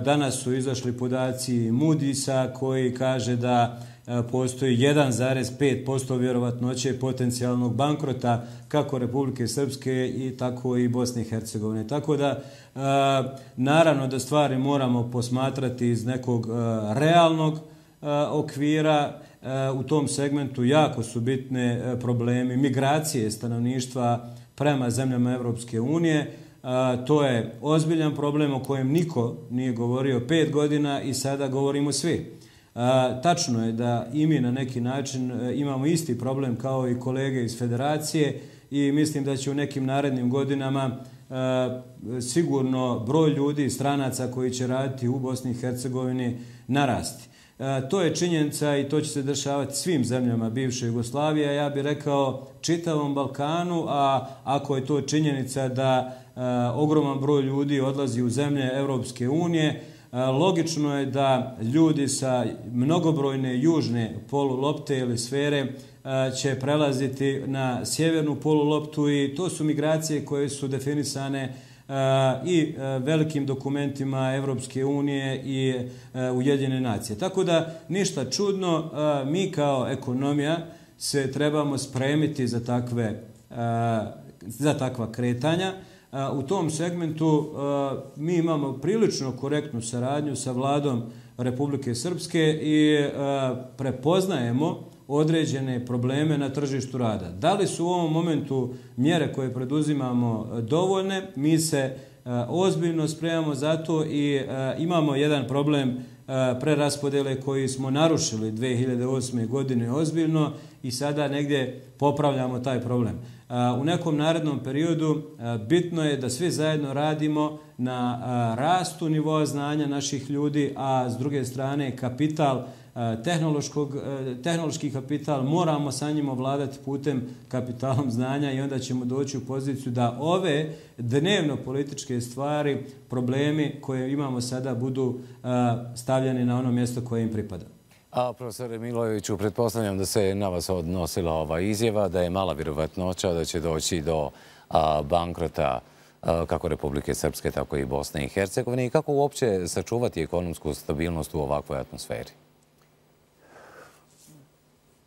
Danas su izašli podaci Moody'sa koji kaže da postoji jedan zarez pet posto vjerovatnoće potencijalnog bankrota kako Republike Srpske i tako i Bosne i Hercegovine. Tako da, naravno da stvari moramo posmatrati iz nekog realnog okvira. U tom segmentu jako su bitne problemi migracije stanovništva prema zemljama Evropske unije. To je ozbiljan problem o kojem niko nije govorio pet godina i sada govorimo svi. Tačno je da i mi na neki način imamo isti problem kao i kolege iz Federacije i mislim da će u nekim narednim godinama sigurno broj ljudi, stranaca koji će raditi u Bosni i Hercegovini narasti. To je činjenica i to će se dešavati svim zemljama bivše Jugoslavije, ja bih rekao čitavom Balkanu, a ako je to činjenica da ogroman broj ljudi odlazi u zemlje Evropske unije, logično je da ljudi sa mnogobrojne južne polulopte ili sfere će prelaziti na sjevernu poluloptu i to su migracije koje su definisane i velikim dokumentima Evropske unije i Ujedinjene nacije. Tako da ništa čudno, mi kao ekonomija se trebamo spremiti za takve, za takva kretanja. U tom segmentu mi imamo prilično korektnu saradnju sa vladom Republike Srpske i prepoznajemo određene probleme na tržištu rada. Da li su u ovom momentu mjere koje preduzimamo dovoljne? Mi se ozbiljno spremamo za to i imamo jedan problem preraspodjele koji smo narušili dve hiljade osme. godine ozbiljno i sada negdje popravljamo taj problem. U nekom narednom periodu bitno je da svi zajedno radimo na rastu nivoa znanja naših ljudi, a s druge strane kapital, tehnološki kapital, moramo sa njim ovladati putem kapitalom znanja i onda ćemo doći u poziciju da ove dnevno političke stvari, problemi koje imamo sada budu stavljeni na ono mjesto koje im pripada. A profesore Milojeviću, pretpostavljam da se na vas odnosila ova izjava, da je mala vjerovatnoća da će doći do a, bankrota kako Republike Srpske, tako i Bosne i Hercegovine, i kako uopće sačuvati ekonomsku stabilnost u ovakvoj atmosferi?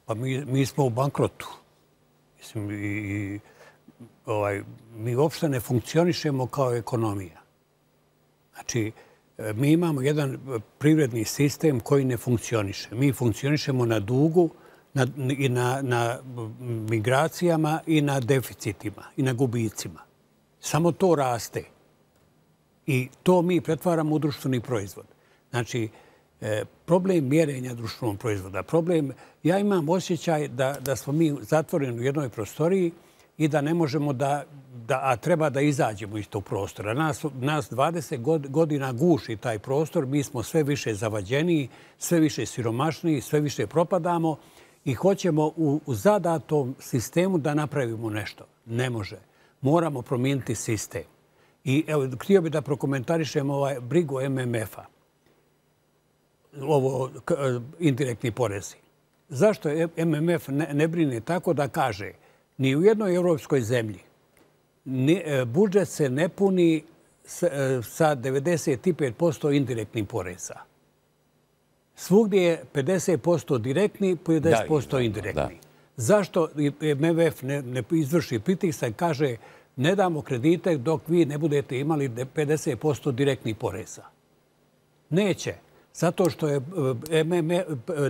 Pa mi, mi smo u bankrotu. Mislim, i, ovaj, mi uopšte ne funkcionišemo kao ekonomija. Znači, mi imamo jedan privredni sistem koji ne funkcioniše. Mi funkcionišemo na dugu, na, i na, na migracijama i na deficitima i na gubicima. Samo to raste. I to mi pretvaramo u društveni proizvod. Znači, problem mjerenja društvenog proizvoda, problem... Ja imam osjećaj da, da smo mi zatvoreni u jednoj prostoriji i da ne možemo da, da a treba da izađemo iz tog prostora. Nas, nas dvadeset godina guši taj prostor, mi smo sve više zavađeniji, sve više siromašniji, sve više propadamo i hoćemo u, u zadatom sistemu da napravimo nešto. Ne može. Moramo promijeniti sistem. I evo, htio bih da prokomentarišem ovaj brigu M M F-a. Ovo indirektni porezi. Zašto M M F ne, ne brine tako da kaže ni u jednoj europskoj zemlji ni, budžet se ne puni s, sa devedeset pet posto indirektnih poreza. Svugdje je pedeset posto direktni, pedeset posto indirektni. Da. Zašto M M F ne, ne izvrši pritisak i kaže ne damo kredite dok vi ne budete imali pedeset posto direktnih poreza? Neće. Zato što je M M F,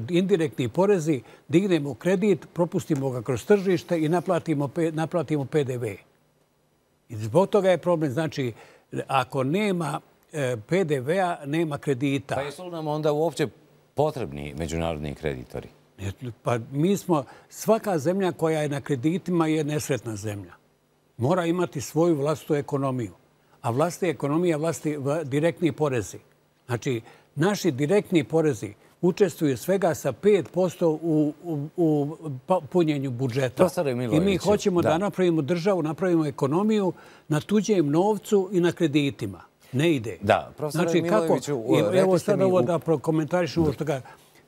indirektni porezi, dignemo kredit, propustimo ga kroz tržište i naplatimo, naplatimo P D V. I zbog toga je problem. Znači, ako nema P D V-a, nema kredita. Pa jesu li nam onda uopće potrebni međunarodni kreditori? Pa mi smo, svaka zemlja koja je na kreditima je nesretna zemlja. Mora imati svoju vlastitu ekonomiju. A vlastna ekonomija, vlasti direktni porezi. Znači, naši direktni porezi učestvuju svega sa pet posto u, u, u punjenju budžeta. I mi hoćemo da. da napravimo državu, napravimo ekonomiju na tuđem novcu i na kreditima. Ne ide. Da, profesore znači, Milojeviću, kako, evo sad ovo u... da prokomentarišemo što ga...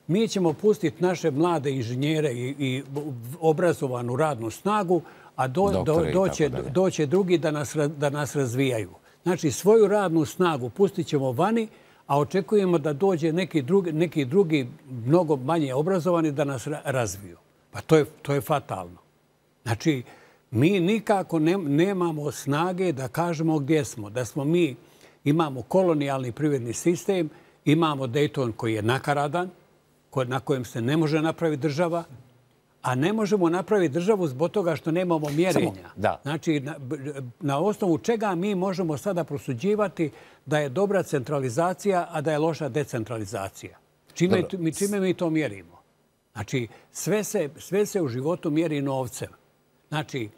Mi ćemo pustiti naše mlade inženjere i, i obrazovanu radnu snagu, a do, do, doće, doće drugi da nas, da nas razvijaju. Znači, svoju radnu snagu pustit ćemo vani, a očekujemo da dođe neki drugi, neki drugi mnogo manje obrazovani da nas razviju. Pa to je, to je fatalno. Znači, mi nikako ne, nemamo snage da kažemo gdje smo. Da smo mi, imamo kolonijalni privredni sistem, imamo Dayton koji je nakaradan, na kojem se ne može napraviti država, a ne možemo napraviti državu zbog toga što nemamo mjerenja. Da. Znači, na, na osnovu čega mi možemo sada prosuđivati da je dobra centralizacija, a da je loša decentralizacija? Čime, mi, čime mi to mjerimo? Znači, sve se, sve se u životu mjeri novcem. Znači,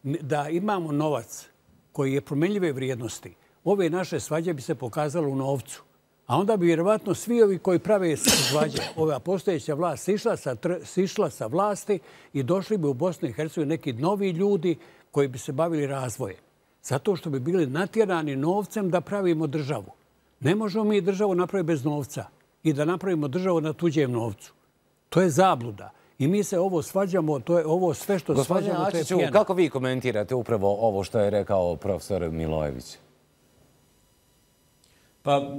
da imamo novac koji je promjenljive vrijednosti, ove naše svađe bi se pokazalo u novcu. A onda bi vjerovatno svi ovi koji prave svađe, ova postojeća vlast, sišla sa, sišla sa vlasti i došli bi u Bosnu i Hercegovinu neki novi ljudi koji bi se bavili razvojem. Zato što bi bili natjerani novcem da pravimo državu. Ne možemo mi državu napraviti bez novca i da napravimo državu na tuđem novcu. To je zabluda. I mi se ovo svađamo, to je ovo sve što Gospodine svađamo, Ačiću, to je pjena. Kako vi komentirate upravo ovo što je rekao profesor Milojević? Pa,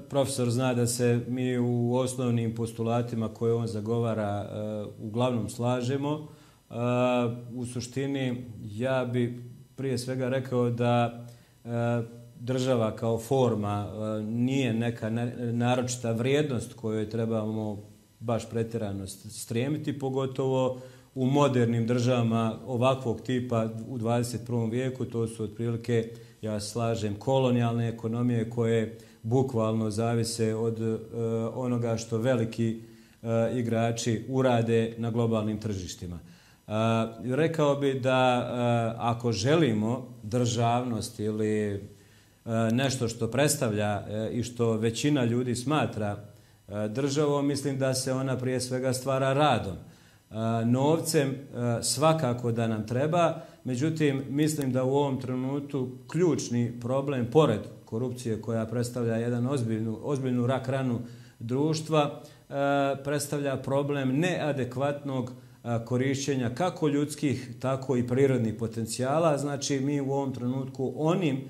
profesor zna da se mi u osnovnim postulatima koje on zagovara uglavnom slažemo. U suštini, ja bi prije svega rekao da država kao forma nije neka naročita vrijednost kojoj trebamo baš pretjerano stremiti, pogotovo u modernim državama ovakvog tipa u dvadeset prvom vijeku. To su otprilike, ja slažem, kolonijalne ekonomije koje bukvalno zavise od uh, onoga što veliki uh, igrači urade na globalnim tržištima. Uh, rekao bi da uh, ako želimo državnost ili uh, nešto što predstavlja uh, i što većina ljudi smatra uh, državom, mislim da se ona prije svega stvara radom. Uh, novcem uh, svakako da nam treba, međutim, mislim da u ovom trenutku ključni problem, pored korupcije koja predstavlja jedan ozbiljnu, ozbiljnu rak ranu društva, uh, predstavlja problem neadekvatnog korišćenja kako ljudskih, tako i prirodnih potencijala. Znači, mi u ovom trenutku onim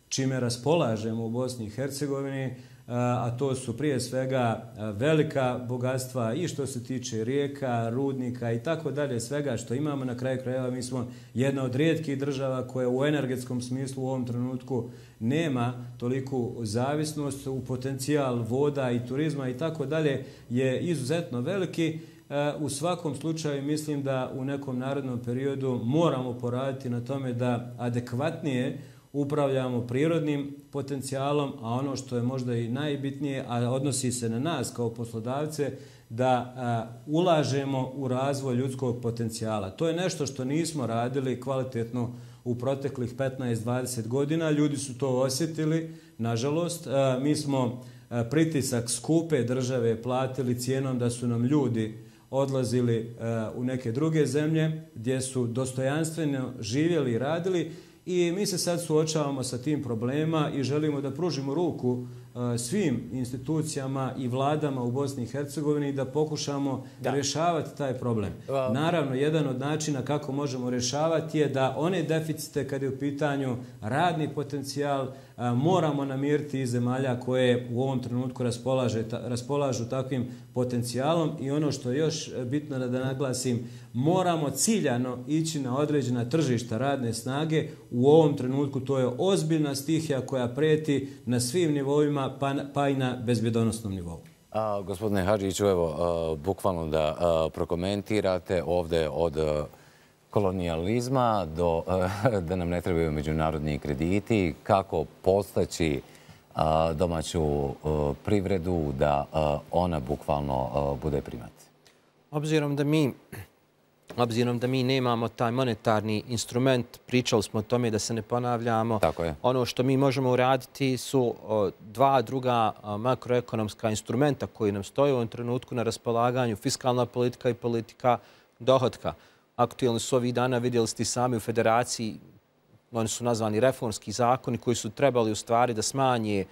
čime raspolažemo u Bosni i Hercegovini, a to su prije svega velika bogatstva i što se tiče rijeka, rudnika i tako dalje, svega što imamo. Na kraju krajeva mi smo jedna od rijetkih država koja u energetskom smislu u ovom trenutku nema toliku zavisnost, u potencijal voda i turizma i tako dalje je izuzetno veliki. U svakom slučaju mislim da u nekom narednom periodu moramo poraditi na tome da adekvatnije upravljamo prirodnim potencijalom, a ono što je možda i najbitnije, a odnosi se na nas kao poslodavce, da a, ulažemo u razvoj ljudskog potencijala. To je nešto što nismo radili kvalitetno u proteklih petnaest dvadeset godina. Ljudi su to osjetili, nažalost. A, mi smo a, pritisak skupe države platili cijenom da su nam ljudi odlazili a, u neke druge zemlje gdje su dostojanstveno živjeli i radili. I mi se sad suočavamo sa tim problema i želimo da pružimo ruku svim institucijama i vladama u Bosni i Hercegovini da pokušamo da. rješavati taj problem. Naravno, jedan od načina kako možemo rješavati je da one deficite kad je u pitanju radni potencijal moramo namiriti iz zemalja koje u ovom trenutku raspolaže, ta, raspolažu takvim potencijalom i ono što je još bitno da naglasim, moramo ciljano ići na određena tržišta radne snage. U ovom trenutku to je ozbiljna stihija koja preti na svim nivoima pa, pa i na bezbjedonosnom nivou. A, gospodine Hadžiću, evo, a, bukvalno da a, prokomentirate ovdje od a, kolonijalizma do a, da nam ne trebaju međunarodni krediti, kako postaći a, domaću a, privredu da a, ona bukvalno a, bude primat. Obzirom da mi Obzirom da mi nemamo taj monetarni instrument, pričali smo o tome da se ne ponavljamo. Tako je. Ono što mi možemo uraditi su dva druga makroekonomska instrumenta koji nam stoje u ovom trenutku na raspolaganju, fiskalna politika i politika dohotka. Aktualni su ovih dana, vidjeli ste sami u federaciji, oni su nazvani reformski zakoni koji su trebali u stvari da smanje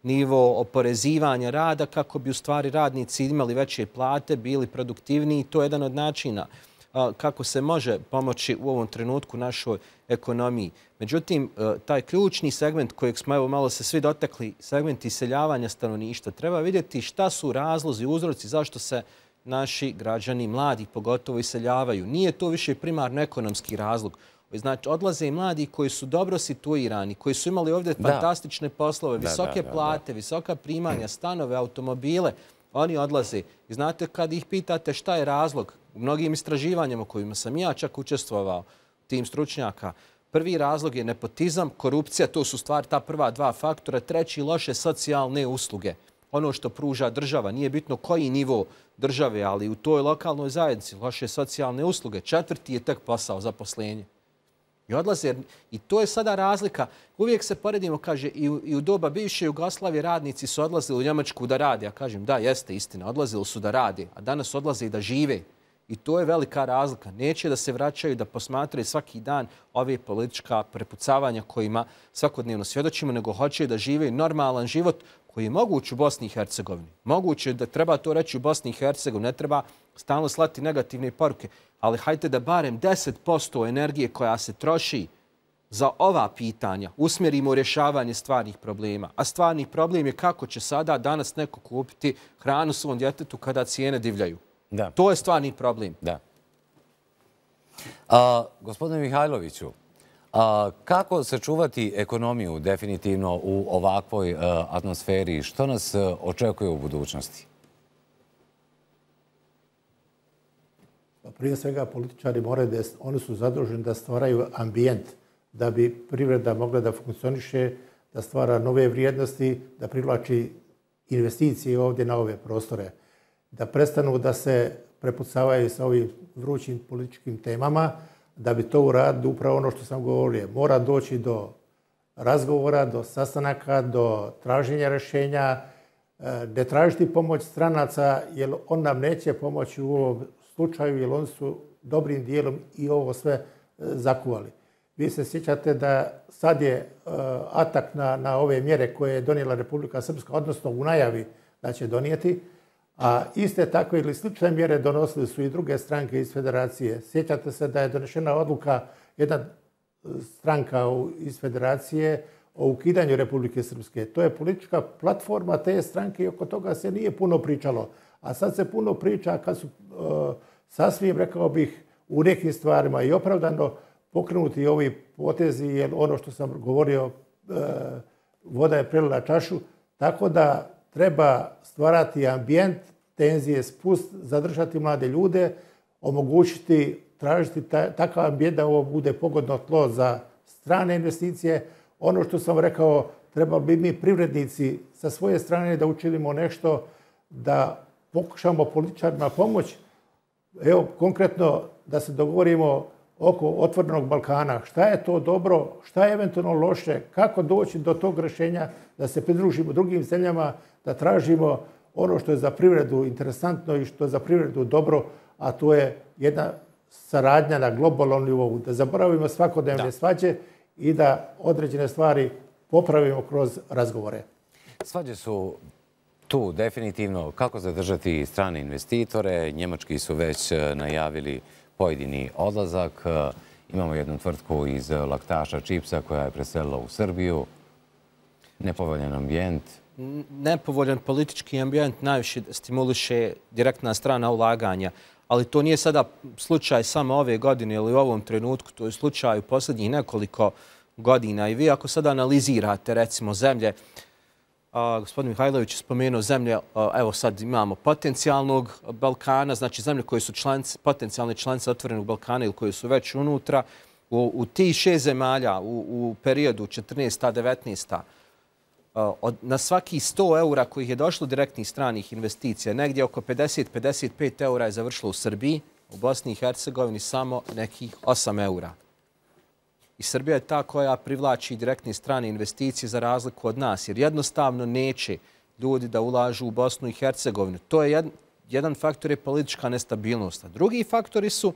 nivo oporezivanja rada kako bi u stvari radnici imali veće plate, bili produktivniji. To je jedan od načina kako se može pomoći u ovom trenutku našoj ekonomiji. Međutim, taj ključni segment kojeg smo evo malo se svi dotakli, segment iseljavanja stanovništva, treba vidjeti šta su razlozi, uzroci zašto se naši građani, mladi pogotovo, iseljavaju. Nije to više primarno ekonomski razlog. Znači, odlaze i mladi koji su dobro situirani, koji su imali ovdje da. fantastične poslove, da, visoke da, da, plate, da. visoka primanja, stanove, automobile. Oni odlaze. I znate, kad ih pitate šta je razlog, u mnogim istraživanjima kojima sam ja čak učestvovao, tim stručnjaka, prvi razlog je nepotizam, korupcija, to su stvari ta prva dva faktora. Treći, loše socijalne usluge. Ono što pruža država, nije bitno koji nivo države, ali u toj lokalnoj zajednici, loše socijalne usluge. Četvrti je tek posao, zaposlenje. I odlaze, i to je sada razlika. Uvijek se poredimo, kaže, i u, i u doba bivše Jugoslavije radnici su odlazili u Njemačku da rade. Ja kažem, da, jeste istina, odlazili su da rade, a danas odlaze i da žive. I to je velika razlika. Neće da se vraćaju, da posmatraju svaki dan ove politička prepucavanja kojima svakodnevno svjedočimo, nego hoće da žive normalan život koji je moguć u Bosni i Hercegovini. Moguće da treba to reći u Bosni i Hercegovini, ne treba stalno slati negativne poruke, ali hajte da barem deset posto energije koja se troši za ova pitanja usmjerimo u rješavanje stvarnih problema. A stvarni problem je kako će sada danas neko kupiti hranu svom djetetu kada cijene divljaju. Da. To je stvarni problem. Da. A, gospodine Mihajloviću, a, kako sačuvati ekonomiju definitivno u ovakvoj a, atmosferi? Što nas a, očekuje u budućnosti? Prije svega političari moraju da oni su zaduženi da stvaraju ambijent da bi privreda mogla da funkcioniše, da stvara nove vrijednosti, da privlači investicije ovdje na ove prostore, da prestanu da se prepucavaju sa ovim vrućim političkim temama, da bi to uradili upravo ono što sam govorio. Mora doći do razgovora, do sastanaka, do traženja rješenja, ne tražiti pomoć stranaca, jer on nam neće pomoći u ovom slučaju, jer oni su dobrim dijelom i ovo sve zakuvali. Vi se sjećate da sad je atak na, na ove mjere koje je donijela Republika Srpska, odnosno u najavi da će donijeti, A iste takve ili slične mjere donosili su i druge stranke iz federacije. Sjećate se da je donešena odluka, jedna stranka iz federacije, o ukidanju Republike Srpske. To je politička platforma te stranke i oko toga se nije puno pričalo. A sad se puno priča kad su uh, sasvim, rekao bih, u nekim stvarima i opravdano pokrenuti ovi potezi, jer ono što sam govorio, uh, voda je prelila čašu, tako da treba stvarati ambijent, tenzije, spust, zadržati mlade ljude, omogućiti, tražiti ta, takav ambijent da ovo bude pogodno tlo za strane investicije. Ono što sam rekao, trebali bi mi privrednici sa svoje strane da učinimo nešto, da pokušamo političarima pomoći. Evo, konkretno, da se dogovorimo oko otvorenog Balkana. Šta je to dobro, šta je eventualno loše, kako doći do tog rješenja, da se pridružimo drugim zemljama, da tražimo ono što je za privredu interesantno i što je za privredu dobro, a to je jedna saradnja na globalnom nivou. Da zaboravimo svakodnevne svađe i da određene stvari popravimo kroz razgovore. Svađe su tu definitivno. Kako zadržati strane investitore? Njemački su već najavili pojedini odlazak. Imamo jednu tvrtku iz laktaša čipsa koja je preselila u Srbiju. Nepovoljan ambijent. Nepovoljan politički ambijent najviše stimuliše direktna strana ulaganja. Ali to nije sada slučaj samo ove godine ili u ovom trenutku, to je slučaj u posljednjih nekoliko godina. I vi ako sada analizirate recimo zemlje, a, gospodin Mihajlović je spomenuo zemlje, a, evo sad imamo potencijalnog Balkana, znači zemlje koje su članice, potencijalne članice otvorenog Balkana ili koje su već unutra, u, u tih šest zemalja u, u periodu četrnaesta devetnaesta Od, na svaki sto eura kojih je došlo direktnih stranih investicija, negdje oko pedeset do pedeset pet eura je završilo u Srbiji, u Bosni i Hercegovini samo nekih osam eura. I Srbija je ta koja privlači direktne strane investicije za razliku od nas, jer jednostavno neće ljudi da ulažu u Bosnu i Hercegovinu. To je jed, jedan faktor je politička nestabilnost. A drugi faktori su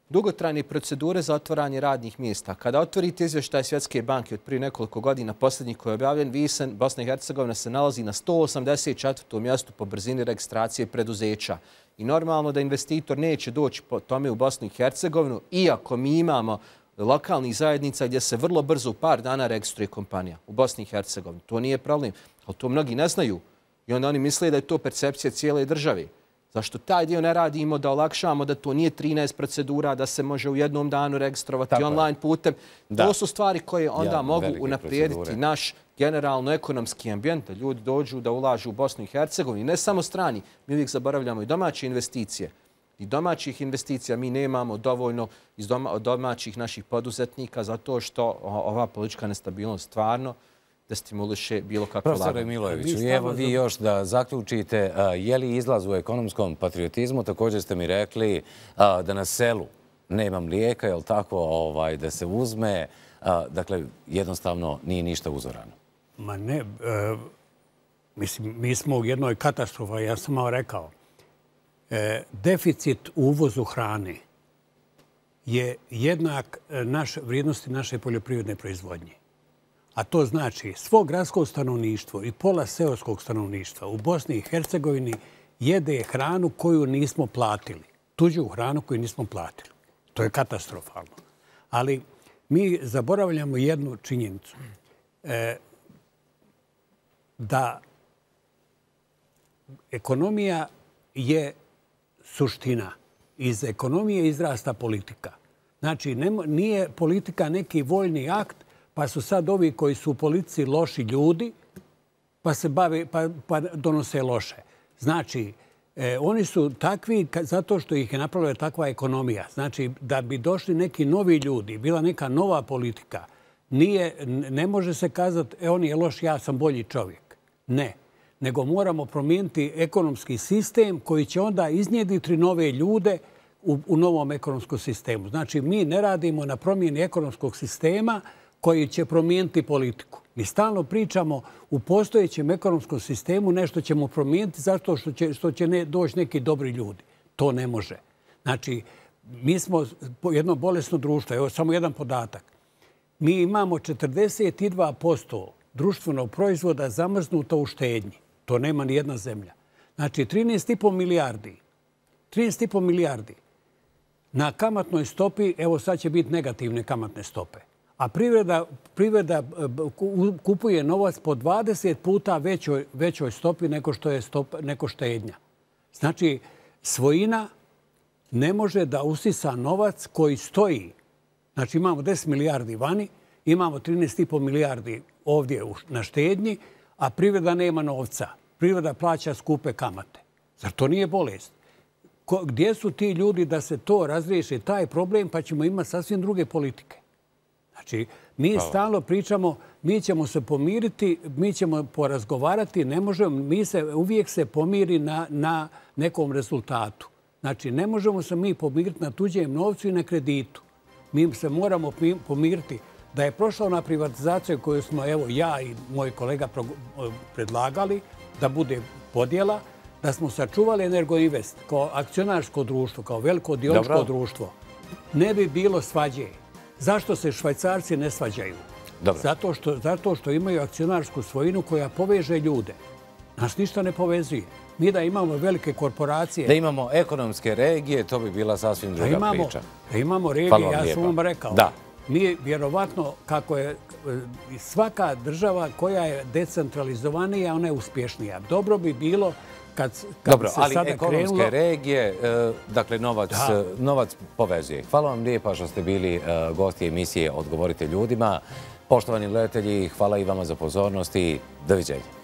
dugotrajne procedure za otvaranje radnih mjesta. Kada otvorite izvještaj Svjetske banke od prije nekoliko godina, posljednji koji je objavljen, Visen, Bosna i Hercegovina se nalazi na sto osamdeset četvrtom mjestu po brzini registracije preduzeća. I normalno da investitor neće doći po tome u Bosnu i Hercegovinu, iako mi imamo lokalnih zajednica gdje se vrlo brzo u par dana registruje kompanija u Bosni i Hercegovini. To nije problem, ali to mnogi ne znaju. I onda oni misle da je to percepcija cijele države. Zašto taj dio ne radimo da olakšamo, da to nije trinaest procedura, da se može u jednom danu registrovati tako online putem. Da. To su stvari koje onda ja, mogu unaprijediti procedure. Naš generalno ekonomski ambijent, da ljudi dođu da ulažu u Bosnu i Hercegovini. Ne samo strani, mi uvijek zaboravljamo i domaće investicije. I domaćih investicija mi nemamo dovoljno iz doma, od domaćih naših poduzetnika zato što ova politička nestabilnost stvarno da stimuliše bilo kako laganje. Profesore Milojeviću, evo vi još da zaključite, je li izlaz u ekonomskom patriotizmu? Također ste mi rekli da na selu nema mlijeka, je li tako, ovaj, da se uzme? Dakle, jednostavno nije ništa uzorano. Ma ne, e, mislim, mi smo u jednoj katastrofi, ja sam malo rekao. E, deficit u uvozu hrane je jednak naš, vrijednosti naše poljoprivredne proizvodnje. A to znači svo gradsko stanovništvo i pola seoskog stanovništva u Bosni i Hercegovini jede hranu koju nismo platili. Tuđu hranu koju nismo platili. To je katastrofalno. Ali mi zaboravljamo jednu činjenicu. E, da ekonomija je suština. Iz ekonomije izrasta politika. Znači, nije politika neki voljni akt, pa su sad ovi koji su u politici loši ljudi, pa se bave, pa, pa donose loše. Znači, e, oni su takvi zato što ih je napravila takva ekonomija. Znači, da bi došli neki novi ljudi, bila neka nova politika, nije, ne može se kazati, e, on je loš, ja sam bolji čovjek. Ne. Nego moramo promijeniti ekonomski sistem koji će onda iznjediti nove ljude u, u novom ekonomskom sistemu. Znači, mi ne radimo na promjeni ekonomskog sistema koji će promijeniti politiku. Mi stalno pričamo u postojećem ekonomskom sistemu nešto ćemo promijeniti zato što će, što će ne, doći neki dobri ljudi. To ne može. Znači, mi smo jedno bolesno društvo. Evo samo jedan podatak. Mi imamo četrdeset dva posto društvenog proizvoda zamrznuto u štednji. To nema ni jedna zemlja. Znači, trinaest i po milijardi. trinaest i po milijardi. Na kamatnoj stopi, evo sad će biti negativne kamatne stope. A privreda, privreda kupuje novac po dvadeset puta većoj, većoj stopi nego što je stop, neko štednja. Znači, svojina ne može da usisa novac koji stoji. Znači, imamo deset milijardi vani, imamo trinaest i po milijardi ovdje na štednji, a privreda nema novca. Privreda plaća skupe kamate. Zar to nije bolest? Ko, gdje su ti ljudi da se to razriješi, taj problem, pa ćemo imati sasvim druge politike? Znači, mi stalno pričamo, mi ćemo se pomiriti, mi ćemo porazgovarati, ne možemo, mi se uvijek se pomiri na, na nekom rezultatu. Znači, ne možemo se mi pomiriti na tuđem novcu i na kreditu. Mi se moramo pomiriti da je prošla ona privatizacija koju smo, evo, ja i moj kolega predlagali, da bude podjela, da smo sačuvali Energoinvest kao akcionarsko društvo, kao veliko dioničko društvo. Ne bi bilo svađe. Zašto se Švajcarci ne svađaju? Zato što, zato što imaju akcionarsku svojinu koja poveže ljude. Nas ništa ne povezuje. Mi da imamo velike korporacije... Da imamo ekonomske regije, to bi bila sasvim druga da imamo, priča. Da imamo regije, ja sam vam rekao. Da. Mi vjerovatno, kako je svaka država koja je decentralizovanija, ona je uspješnija. Dobro bi bilo kad, kad Dobro, se ali sada ekonomske krenulo... regije, dakle, novac, novac povezuje. Hvala vam lijepa što ste bili gosti emisije Odgovorite ljudima. Poštovani gledatelji, hvala i vama za pozornost i doviđenja.